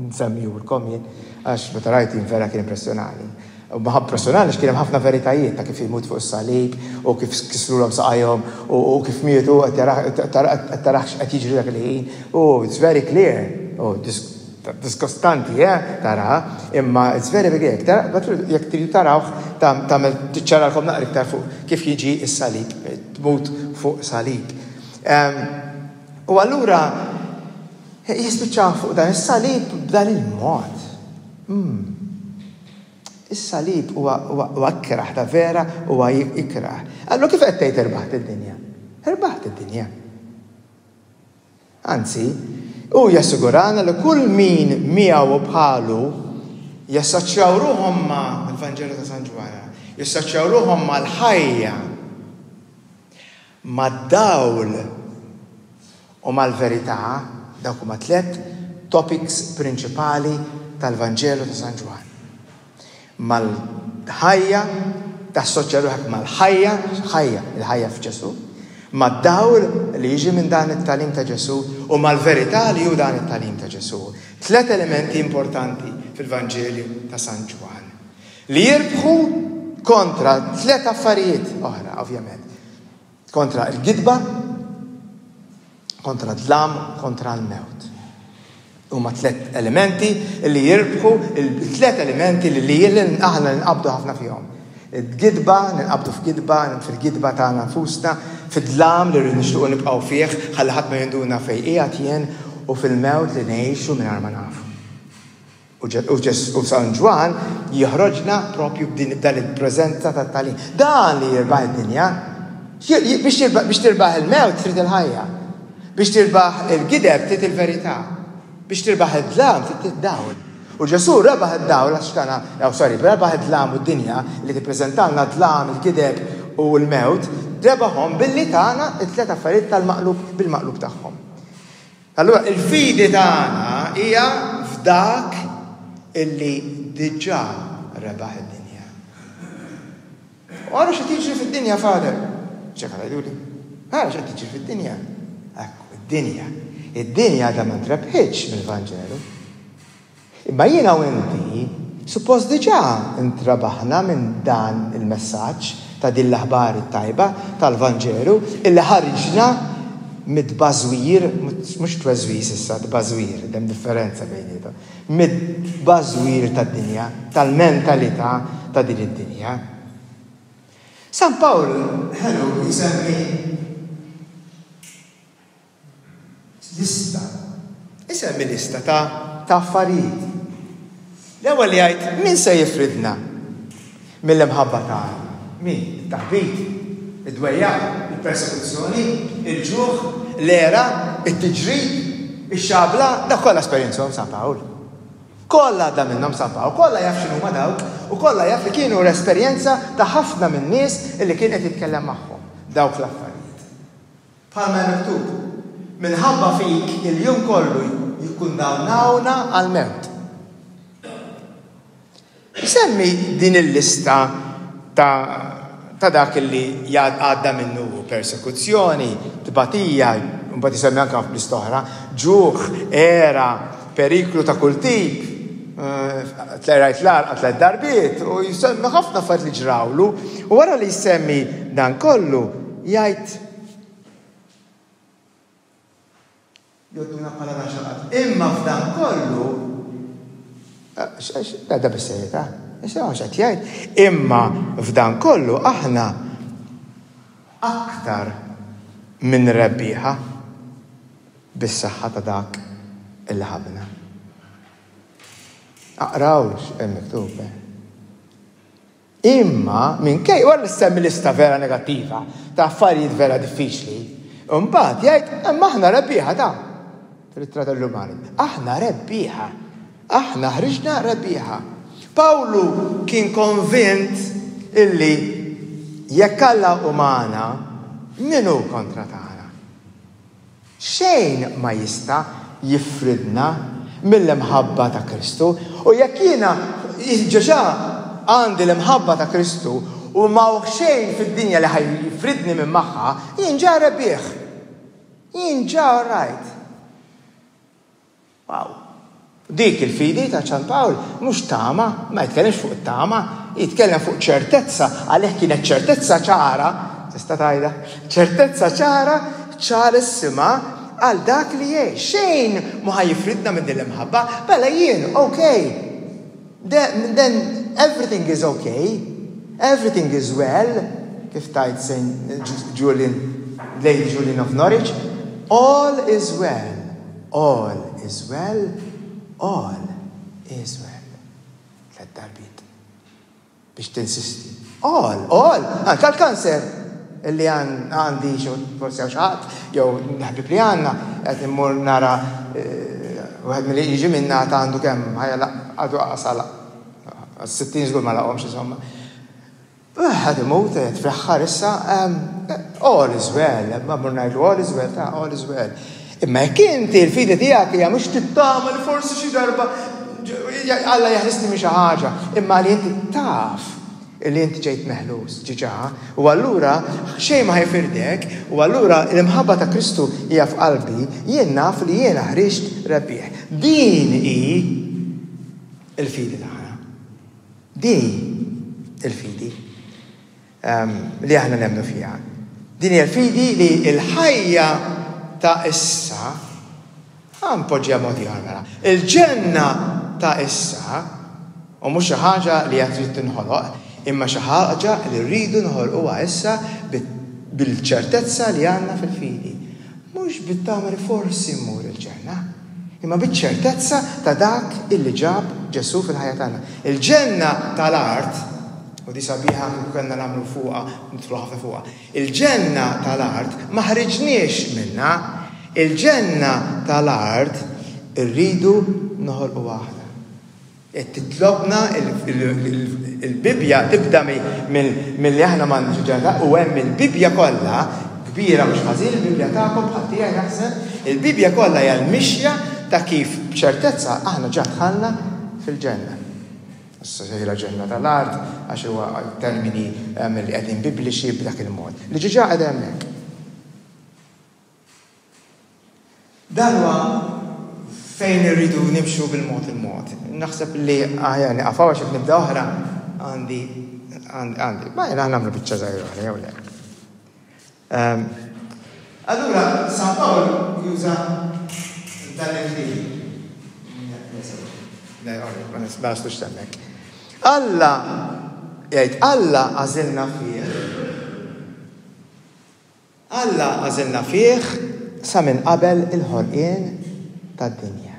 nsemmihulkom jien, għax meta rajt jien vera kien impressjonani. U ma impressjonani għax kien hemm ħafna veritajiet ta' kif imut fuq is-salib u kif kisrulhom saqajhom u kif mietu qed tarah x'qed jiġri dak il-ħin. U it's very clear. U Diskostanti, eh, tara, imma it's very very clear. Jekk tridu tarawh, tagħmel tiċċaralkom naqra iktar fuq kif jiġi s-salib, tmut fuq salib. U allura jispiċċaw fuq dan is-salib b'dan il-mod. Hmm. Is-salib huwa ikrah, ta' vera huwa ikrah. Allura kif qed tgħid irbaħt id-dinja? Irbaħt id-dinja. Anzi, hu jassigurana li kull min miegħu u bħalu jassoċjaw ruħhom ma' l-Vanġelu ta' San Ġwann, jassoċjaw ruħhom mal-ħajja, mad-dawl u mal-verità, dawk huma tlett topics prinċipali tal-Vanġelu ta' San Ġwann. Mal-ħajja, tassoċja ruħek mal-ħajja, ħajja, il-ħajja f'Ġesù, mad-dawl li jiġi minn dan it-tagħlim ta' Ġesù u mal-verità li hu dan it-tagħlim ta' Ġesù. Tlett elementi importanti fil-Vanġelju ta' San Ġwann. Li jirbħu kontra tlett affarijiet oħra, ovvjament. Kontra l-gidba, kontra d-dlam, kontra l-mewt. Huma tlett elementi li jirbħu, il-tlett elementi li li aħna ninqabdu ħafna fihom. Il-gidba, ninqabdu f'gidba, fil-gidba tagħna nfusna, fid-dlam li rridu nixtiequ nibqgħu fih, ħalli ħadd ma jinduna fejn qiegħed jien, u fil-mewt li ngħixu mingħajr ma nafu. U San Ġwann joħroġna propju b'din dan il-preżenza tat-tagħlim. Dan li jirbaħ id-dinja. Biex tirbaħ il-mewt trid il-ħajja. Biex tirbaħ il-gideb trid il-verità. Biex tirbaħ id-dlam trid id-dawl. U Ġesù rebaħ id-dawl għax tana, oh, sorry, rebaħ id-dlam u d-dinja li tippreżentalna d-dlam, il-gideb u l-mewt, rebaħhom billi tana it-tliet affarijiet tal-maqlub bil-maqlub tagħhom. Allura il-fidi tagħna hija f'dak illi diġà rebaħ id-dinja. U ara x'qed jiġri fid-dinja, Father. X'hekk tgħiduli? Ara x'qed jiġri fid-dinja. Ekku, id-dinja. Id-dinja għadha ma ntrebħitx mill-Vanġelu. Imma jiena u inti suppost diġà ntrebaħna minn dan il-messaġġ ta' din l-aħbar it-tajba tal-Vanġelu illi ħariġna mid-tbażwir, mhux tweżwiż issa, tbażwir, hemm differenza bejniethom, mid-tbażwir tad-dinja, tal-mentalità ta' din id-dinja. San Pawl ħelu jsemmi Lista. Isemmi lista ta' ta' affarijiet. L-ewwel li jgħid min se jifridna mill-imħabba ta' Alla? Min? It-taħbit, id-dwejjaq, il-persekuzzjoni, il-ġuħ, l-għera, it-tiġrib, ix-xabla, dak kollha esperjenzhom San Pawl. Kollha għadda minnhom San Pawl, kollha jaf x'inhuma dawk u kollha jaf li kienu l-esperjenza ta' ħafna min-nies li kien qed jitkellem magħhom dawk l-affarijiet. Bħalma hemm miktub, Minħabba fik il-jum kollu jikkundannawna għall-mewt. Isemmi din il-lista ta' ta' dak li għadda minnu hu, persekuzzjoni, tbatija, mbagħad isemmi anke lista oħra, ġuħ, għera, periklu ta' kull tip, tlajrajt l-għarqa tlet darbiet, u jsemmi ħafna affarijiet li ġrawlu, u wara li jsemmi dan kollu, jgħid Jgħodduna bħala raxaqat. Imma f'dan kollu, da bis-serjetà, isimgħu x'qed jgħid, imma f'dan kollu aħna aktar minn rebbieħa bis-saħħa ta' dak illi ħabbna. Aqraw x'hemm miktub. Eh? Imma minkejja, wara li ssemmi lista vera negattiva ta' affarijiet vera diffiċli, imbagħad jgħid imma aħna rebbieħa ta' fl-ittra tar-Rumani. Aħna rebbieħa. Aħna ħriġna rebbieħa. Pawlu kien konvint illi jekk Alla hu magħna, min hu kontra tagħna? Xejn ma jista' jifridna mill-imħabba ta' Kristu. U jekk jiena ġeġa għandi l-imħabba ta' Kristu u m'hawn xejn fid-dinja li ħa jifridni minn magħha, jien ġa rebbieħ. Jien ġa all right. Wow. Dik il-fidi ta' Ċan Pawl mhux tama, ma jitkellimx fuq it-tama, jitkellem fuq ċertezza, għalih kienet ċertezza ċara, tista' tgħidha, ċertezza ċara, ċarissima għal dak li jgħix. Xejn ma ħa jifridna minn din l-imħabba, mela jien, okay. Then, then everything is okay, everything is well, kif tgħid Saint Julian, Lady Julian of Norwich, all is well. All is well, all is well. Tlett darbiet. Biex tinsisti. All, all, anka l-kanser illi għandi xi forsi hawn xi ħadd jew ħbieb li għandna qed immur nara eh, wieħed milli jiġi minna ta' għandu kemm ħajja għadu qasal 60 żgur ma laqhomx insomma. Qed imut, qed fl-aħħar issa, all is well, ma mmur ngħidlu all is well, ta' all is well. Imma jekk inti l-fidi tiegħek hija mhux tittama li forsi xi darba Alla jeħlisni minn xi ħaġa, imma li inti taf li inti ġejt meħlus ġiġa, u allura xejn ma ħajfirdek, u allura l-imħabba ta' Kristu hija f'qalbi, jien naf li jiena ħriġt rebbieħ. Din hi l-fidi tagħna. Din hi l-fidi li aħna nemmnu fiha. Din hija l-fidi li l-ħajja ta' issa, ħa npoġġiha mod ieħor mela, il-ġenna ta' issa, u mhux xi ħaġa li għad trid tinħoloq, imma xi ħaġa li rridu noħolquha issa bil-ċertezza li għandna fil-fidi. Mhux bit-tama li forsi mmur il-ġenna, imma biċ-ċertezza ta' dak illi ġab Ġesù fil-ħajja tagħna. Il-ġenna tal-art, u di sabiħa kieku kellna nagħmlu fuqha, nidħlu ħafna fuqha, il-ġenna tal-art ma ħriġniex minnha, il-ġenna tal-art irridu noħolquha aħna. Qed titlobna il-Bibbja tibda milli aħna m'għandniex ġenna u hemm il-Bibbja kollha kbira mhux ħażin il-Bibbja tagħkom bħal tiegħi naħseb, il-Bibbja kollha hija l-mixja ta' kif b'ċertezza aħna ġa dħalna fil-ġenna. Issa sejra ġenna tal-art għax huwa termini li qegħdin bibliċi b'dak il-mod. Li ġiġa qiegħda hemmhekk. Dan huwa fejn irridu nimxu bil-mod il-mod. Naħseb li aħjar nieqaf hawn għax jekk nibda oħra għandi għandi. Ma jiena nagħmlu biċċa żgħira oħra jew le. Ehm, allura San Pawl juża dan il-kliem. Le, ma nistax hemmhekk. Alla jgħid Alla għażilna fih Alla għażilna fih sa minn qabel il-ħolqien tad-dinja.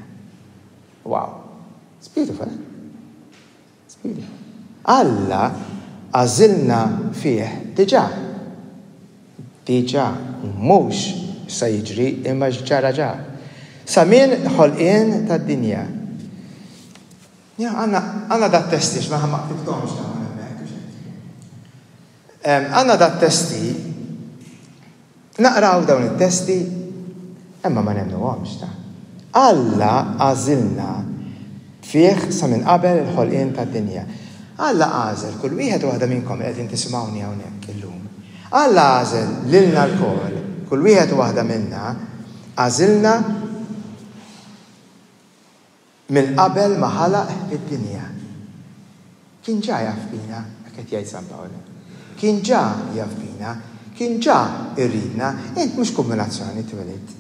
Wow. It's beautiful, eh? It's beautiful. Alla għażilna fih diġà. Diġà, mhux sa jiġri imma ġara ġa. Sa minn ħolqien tad-dinja. Ja, għandna dat testi ma ma ktibthomx dawn hemmhekk. Għandna dat-testi, naqraw dawn it-testi, imma ma nemmnuhomx ta. Alla għażilna fih sa minn qabel il-ħolqien tad-dinja. Alla għażel kull wieħed u waħda minnkom li qegħdin tisimgħuni hawnhekk illum. Alla għażel lilna lkoll, kull wieħed u waħda minna, għażilna Minn qabel ma ħalaq id-dinja. Kien ġa jaf bina, hekk qed jgħid San Pawl. Kien ġa jaf bina, kien ġa jridna, int mhux kumbinazzjoni twelidt.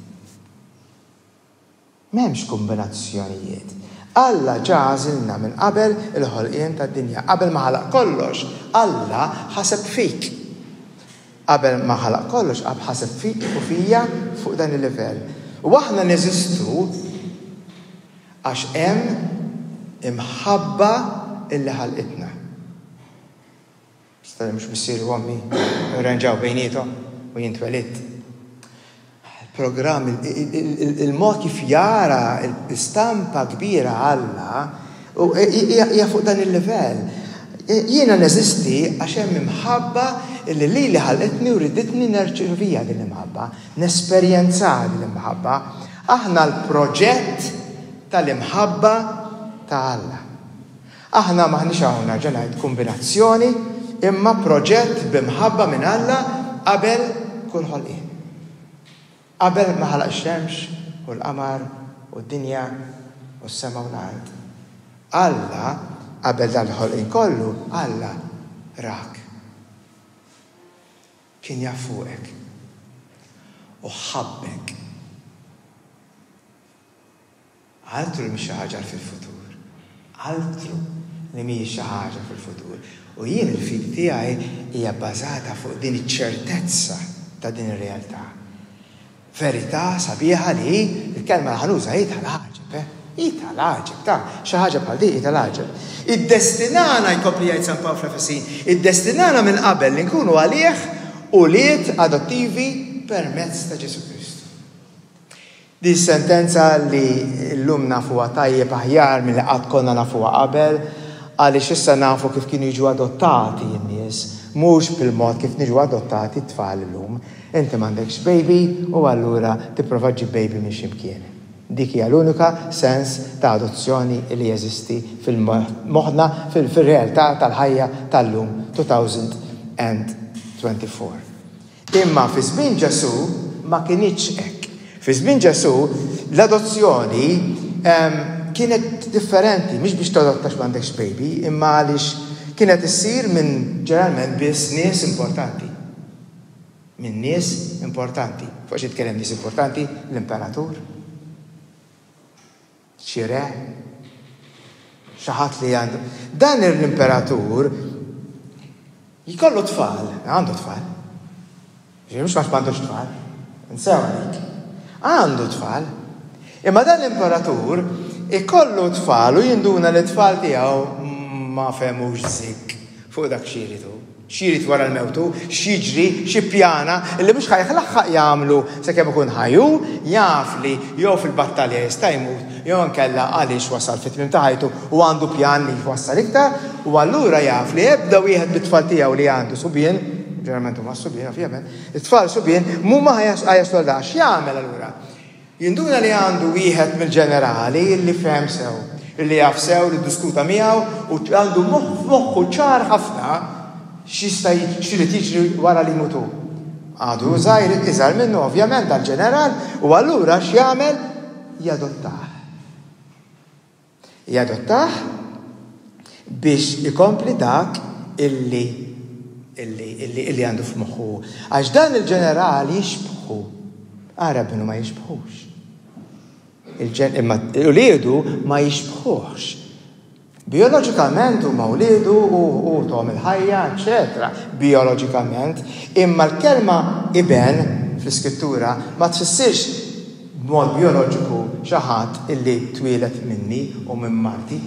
M'hemmx kumbinazzjonijiet. Alla ġa għażilna minn qabel il-ħolqien tad-dinja. Qabel ma ħalaq kollox, Alla ħaseb fik. Qabel ma ħalaq kollox, ħaseb fik u fija fuq dan il-livell. U aħna neżistu għax hemm imħabba illi ħalqitna. Sta mhux missieri u ommi rranġaw bejniethom u jien twelidt. Il-programm, il-mod kif jara l-istampa kbira Alla, U hija fuq dan il-livell. Jiena neżisti għax hemm imħabba li lili ħalqitni u riditni nerċeviha din l-imħabba, nesperjenzaha din l-imħabba. Aħna l-proġett tal-imħabba ta' Alla. Aħna m'aħniex hawn nerġa' ngħid kumbinazzjoni, imma proġett b'imħabba minn Alla qabel kull ħolqien. Qabel ma ħalaq ix-xemx u l-qamar u d-dinja u s-sema u l-art, Alla, qabel dan il-ħolqien kollu, Alla rak. Kien jaf fuqek. U ħabbek. Altru li mhix xi ħaġa fil-futur. Altru li mhijiex xi ħaġa fil-futur. U jien il-fidi tiegħi hija bbażata fuq din iċ-ċertezza ta' din ir-realtà. Verità sabiħa li hi, il-kelma li ħa nuża hi tal-għaġeb, eh? Hi tal-għaġeb, ta' xi ħaġa bħal din hi tal-għaġeb. Iddestinana, jkompli jgħid San Pawl fl-Efesin, iddestinana minn qabel li nkunu għalih ulied adottivi permezz ta' Ġesù Kristu. Din sentenza li llum nafuha tajjeb aħjar milli qatt konna nafuha qabel, għaliex issa nafu kif kienu jiġu adottati n-nies, mhux bil-mod kif niġu adottati t-tfal illum. Inti m'għandekx baby u allura tipprova ġġib baby minn xi mkien. Dik hija l-unika sens ta' adozzjoni li jeżisti fil-moħħna fil-realtà tal-ħajja tal-lum 2024. Imma fi żmien Ġesù ma kinitx hekk. Fi żmien Ġesù l-adozzjoni kienet differenti, mhix biex tadotta għax m'għandekx baby, imma għaliex kienet issir minn ġeneralment biss nies importanti. Minn nies importanti. Fuq xi tkellem nies importanti? L-imperatur. Xi re? Xi ħadd li għandu. Dan l-imperatur jkollu tfal, għandu tfal. Ġifieri mhux għax m'għandux tfal. Nsew dik. Għandu tfal. Imma dan l-imperatur ikollu tfal u jinduna li t-tfal tiegħu ma fehmux żikk fuq dak xi jrid hu. X'jrid wara l-mewt hu, x'jiġri, x'ippjana, illi mhux ħa jlaħħaq jagħmlu sakemm ikun ħaj hu, jaf li jew fil-battalja jista' jmut jew inkella għaliex wasal fit-tmiem ta' ħajtu u għandu pjan li jwassal iktar, u allura jaf li ebda wieħed mit-tfal tiegħu li għandu subien, ġeneralment huma s-subien ovvjament, it-tfal subien mhuma ħa jaslu għal dan. X'jagħmel allura? Jinduna li għandu wieħed mill-ġenerali li fehem sew, li jaf sew, li ddiskuta miegħu u għandu f'moħħu ċar ħafna x'jista' x'irid jiġri wara li jmut hu. Għadu żgħir, iżgħar minnu ovvjament dal-ġeneral, u allura x'jagħmel? Jadottah. Jadottah biex ikompli dak illi illi illi illi għandu f'moħħu. Għax dan il-ġeneral jixbħu. Ara binu ma jixbħux. Imma uliedu ma jixbħuhx. Bijoloġikament huma wliedu u u tom il-ħajja, eċetera. Bijoloġikament, imma l-kelma iben fl-iskrittura ma tfissirx b'mod bijoloġiku xi ħadd illi twieled minni u minn marti,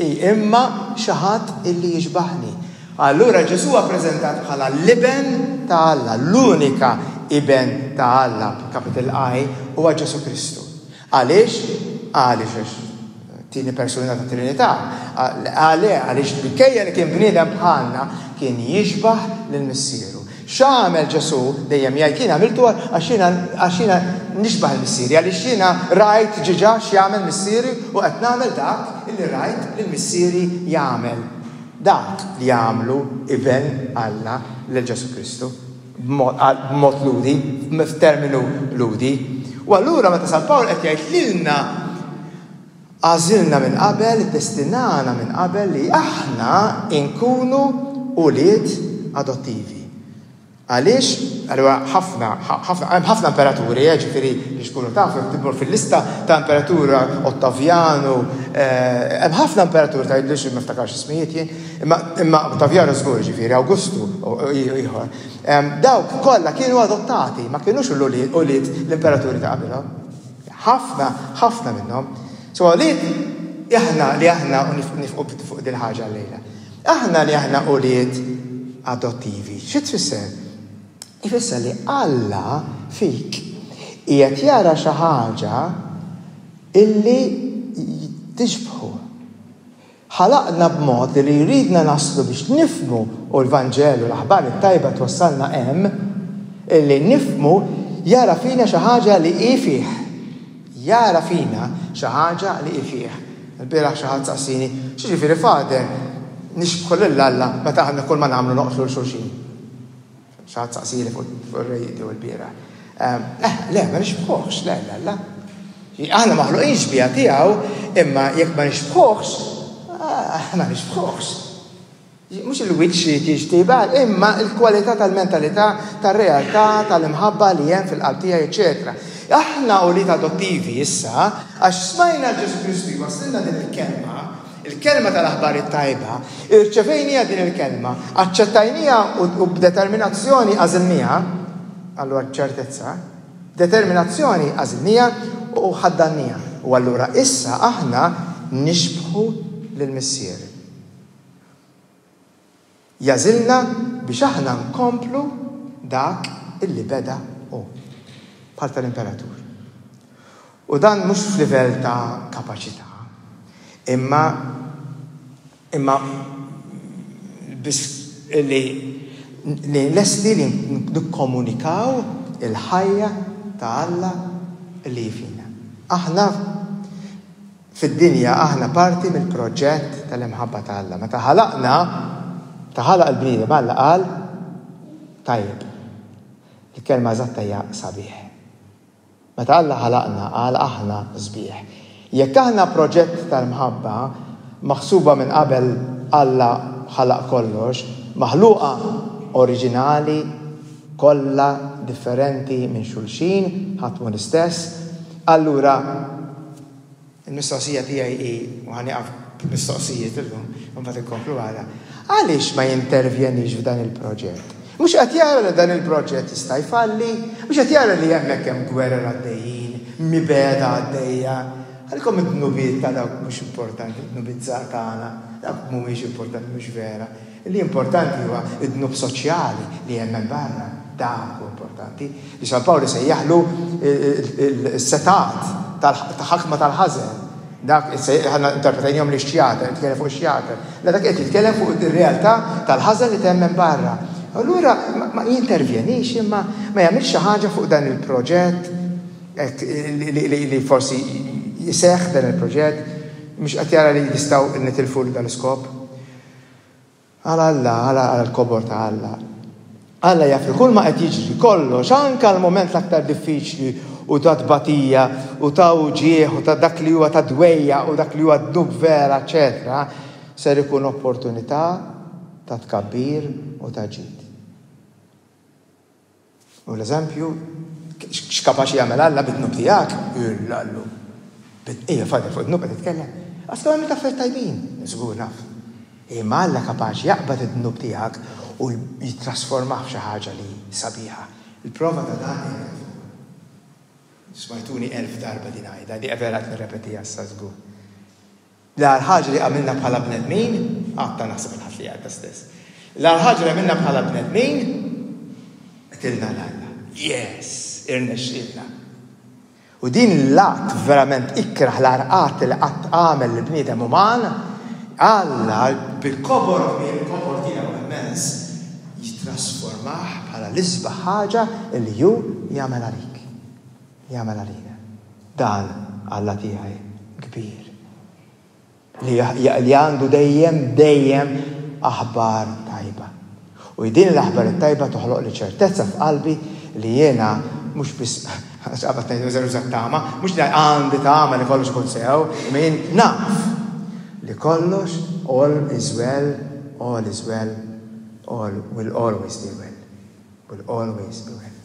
imma xi ħadd illi jixbahni. Allura Ġesù huwa ppreżentat bħala l-Iben ta' Alla, l-unika Iben ta' Alla, b'capital I, huwa Ġesù Kristu. Għaliex? Għaliex għax tieni persuna tat-Trinità. Għale, għaliex minkejja li kien bniedem bħalna, kien jixbah lil Missieru. X'għamel Ġesù? Dejjem jgħid jien għamiltu għax jiena għax jiena nixbah il-Missieri, għaliex jiena rajt ġiġa x'jagħmel Missieri u qed nagħmel dak illi rajt lil Missieri jagħmel. Dak li għamlu Iben Alla lil Ġesù Kristu b'mod Lhudi, f'terminu Lhudi. U allura meta San Pawl qed jgħid lilna Għażilna minn qabel, iddestinana minn qabel li aħna nkunu ulied adottivi. Għaliex? Allura ħafna, ħafna, hemm ħafna imperaturi, eh, ġifieri biex tkunu tafu, jekk tmur fil-lista ta' imperatura Ottavjanu, eh, hemm ħafna imperaturi tgħidlix ma niftakarx ismijiet jien, imma imma Ottavjanu żgur ġifieri, Awgustu ieħor. Dawk kollha kienu adottati, ma kinux ulied l-imperaturi ta' qabilhom. Ħafna, ħafna minnhom. So għalih aħna li aħna u nifqu fuq din ħaġa llejla. Aħna li aħna ulied adottivi. Xi tfisser? Ifisser li Alla fik qiegħed jara xi ħaġa illi tixbħu. Ħalaqna b'mod li jridna naslu biex nifhmu, u l-Vanġelu, l-aħbar it-tajba twassalna hemm, illi nifhmu jara fina xi ħaġa li hi fih. Jara fina xi ħaġa li hi fih. Ilbieraħ xi ħadd saqsieni, x'jiġifieri Father nixbħu lil Alla meta aħna kull ma nagħmlu noqtlu 'l xulxin? Xi ħadd saqsieli fuq ir-radio ilbieraħ. Eh, le, ma nixbħuhx, le, le, le. Aħna maħluqin xbieha tiegħu, imma jekk ma nixbħuhx, ah, ma nixbħuhx. Mhux il-wiċċ li tixtieq, imma l-kwalità tal-mentalità, tar-realtà, tal-imħabba li hemm fil-qalb tiegħi, eċetera. Aħna ulied adottivi issa, għax smajna Ġesù Kristu jwasslilna din il-kelma, il-kelma tal-aħbar it-tajba, irċevejniha din il-kelma, aċċettajniha u b'determinazzjoni għażilniha, allura ċertezza, determinazzjoni għażilniha u ħaddanniha. U allura issa aħna nixbħu lill-Missier. Jagħżilna biex aħna nkomplu dak illi beda hu. Bħal tal-imperatur. U dan mhux f'livell ta' kapaċità, imma imma biss li li lesti li nikkomunikaw il-ħajja ta' Alla li hi fina. Aħna Fid-dinja aħna parti mill-proġett tal-imħabba ta' Alla. Meta ħalaqna, meta ħalaq il-bniedem Alla qal tajjeb. Il-kelma eżatta hija sabiħ. Meta Alla ħalaqna qal aħna sbieħ. Jekk aħna proġett tal-mħabba maħsuba minn qabel Alla ħalaq kollox, maħluqa oriġinali, kollha differenti minn xulxin, ħadd mhu l-istess, allura Il-mistoqsija tiegħi hi, u ħa nieqaf b'mistoqsijiet illum, u mbagħad inkomplu għada, għaliex ma jintervjenix f'dan il-proġett? Mhux qed jara li dan il-proġett jista' jfalli? Mhux qed jara li hemmhekk hemm gwerer għaddejjin, mibegħda għaddejja? Għalikom id-dnubiet ta' dawk mhux importanti, id-dnubiet żgħar tagħna, dawk mhumiex importanti, mhux vera. Li importanti huwa d-dnub soċjali li hemm hemm barra. Dak hu importanti. Li San Pawl isejjaħlu s-setgħat ta' ħakma tal-ħażen. Dak aħna interpretajnihom li x-xjaten, jitkellem fuq ix-xjaten. Le dak qed jitkellem fuq ir-realtà tal-ħażen li temm hemm barra. Allura ma jintervjenix imma ma jagħmilx xi ħaġa fuq dan il-proġett li forsi jseħħ dan il-proġett, mhux qed jara li jistgħu nitilfu dan l-iskop. Għal Alla, għal l-kobor ta' Alla. Alla jaf li kull ma qed jiġri, kollox, anke l-mument l-aktar diffiċli u ta' tbatija u ta' uġigħ u ta' dak li huwa ta' dwejjaq u dak li huwa dnub vera, eċċetera, ser ikun opportunità ta' tkabbir u ta' ġid. U l-eżempju, x'kapaċi jagħmel Alla bid-dnub tiegħek? Illallu. Ejja, Father, fuq id-dnub qed titkellem. Għax għamilt affarijiet tajbin. Żgur naf. Imma Alla kapaċi jaqbad id-dnub tiegħek u jittrasformah f'xi ħaġa li sabiħa. Il-prova ta' dan hija Smajtuni elf darba din għajda, di vera qed nirrepetiha issa żgur. L-agħar ħaġa li għamilna bħala bnedmin, għadta naħseb il-Ħadd li għadda stess. L-agħar ħaġa li għamilna bħala bnedmin, qtilna 'l Alla. Yes! Irnexxielna. U din l-att verament ikrah l-agħar att li qatt għamel l-bniedem uman, Alla bil-kobor kbir, il-kobor tiegħu immens, jittrasformah bħala l-isbaħ ħaġa li hu jagħmel għalik. Jagħmel għalina. Dan Alla tiegħi kbir. Li, li għandu dejjem, dejjem aħbar tajba. U din l-aħbar it-tajba toħloq li ċertezza f'qalbi li jiena mhux biss qabad ngħidu uża tama, mhux li għandi tama li kollox ikun sew, imma jien naf li kollox all is well, all is well, all will always be well. Will always be well.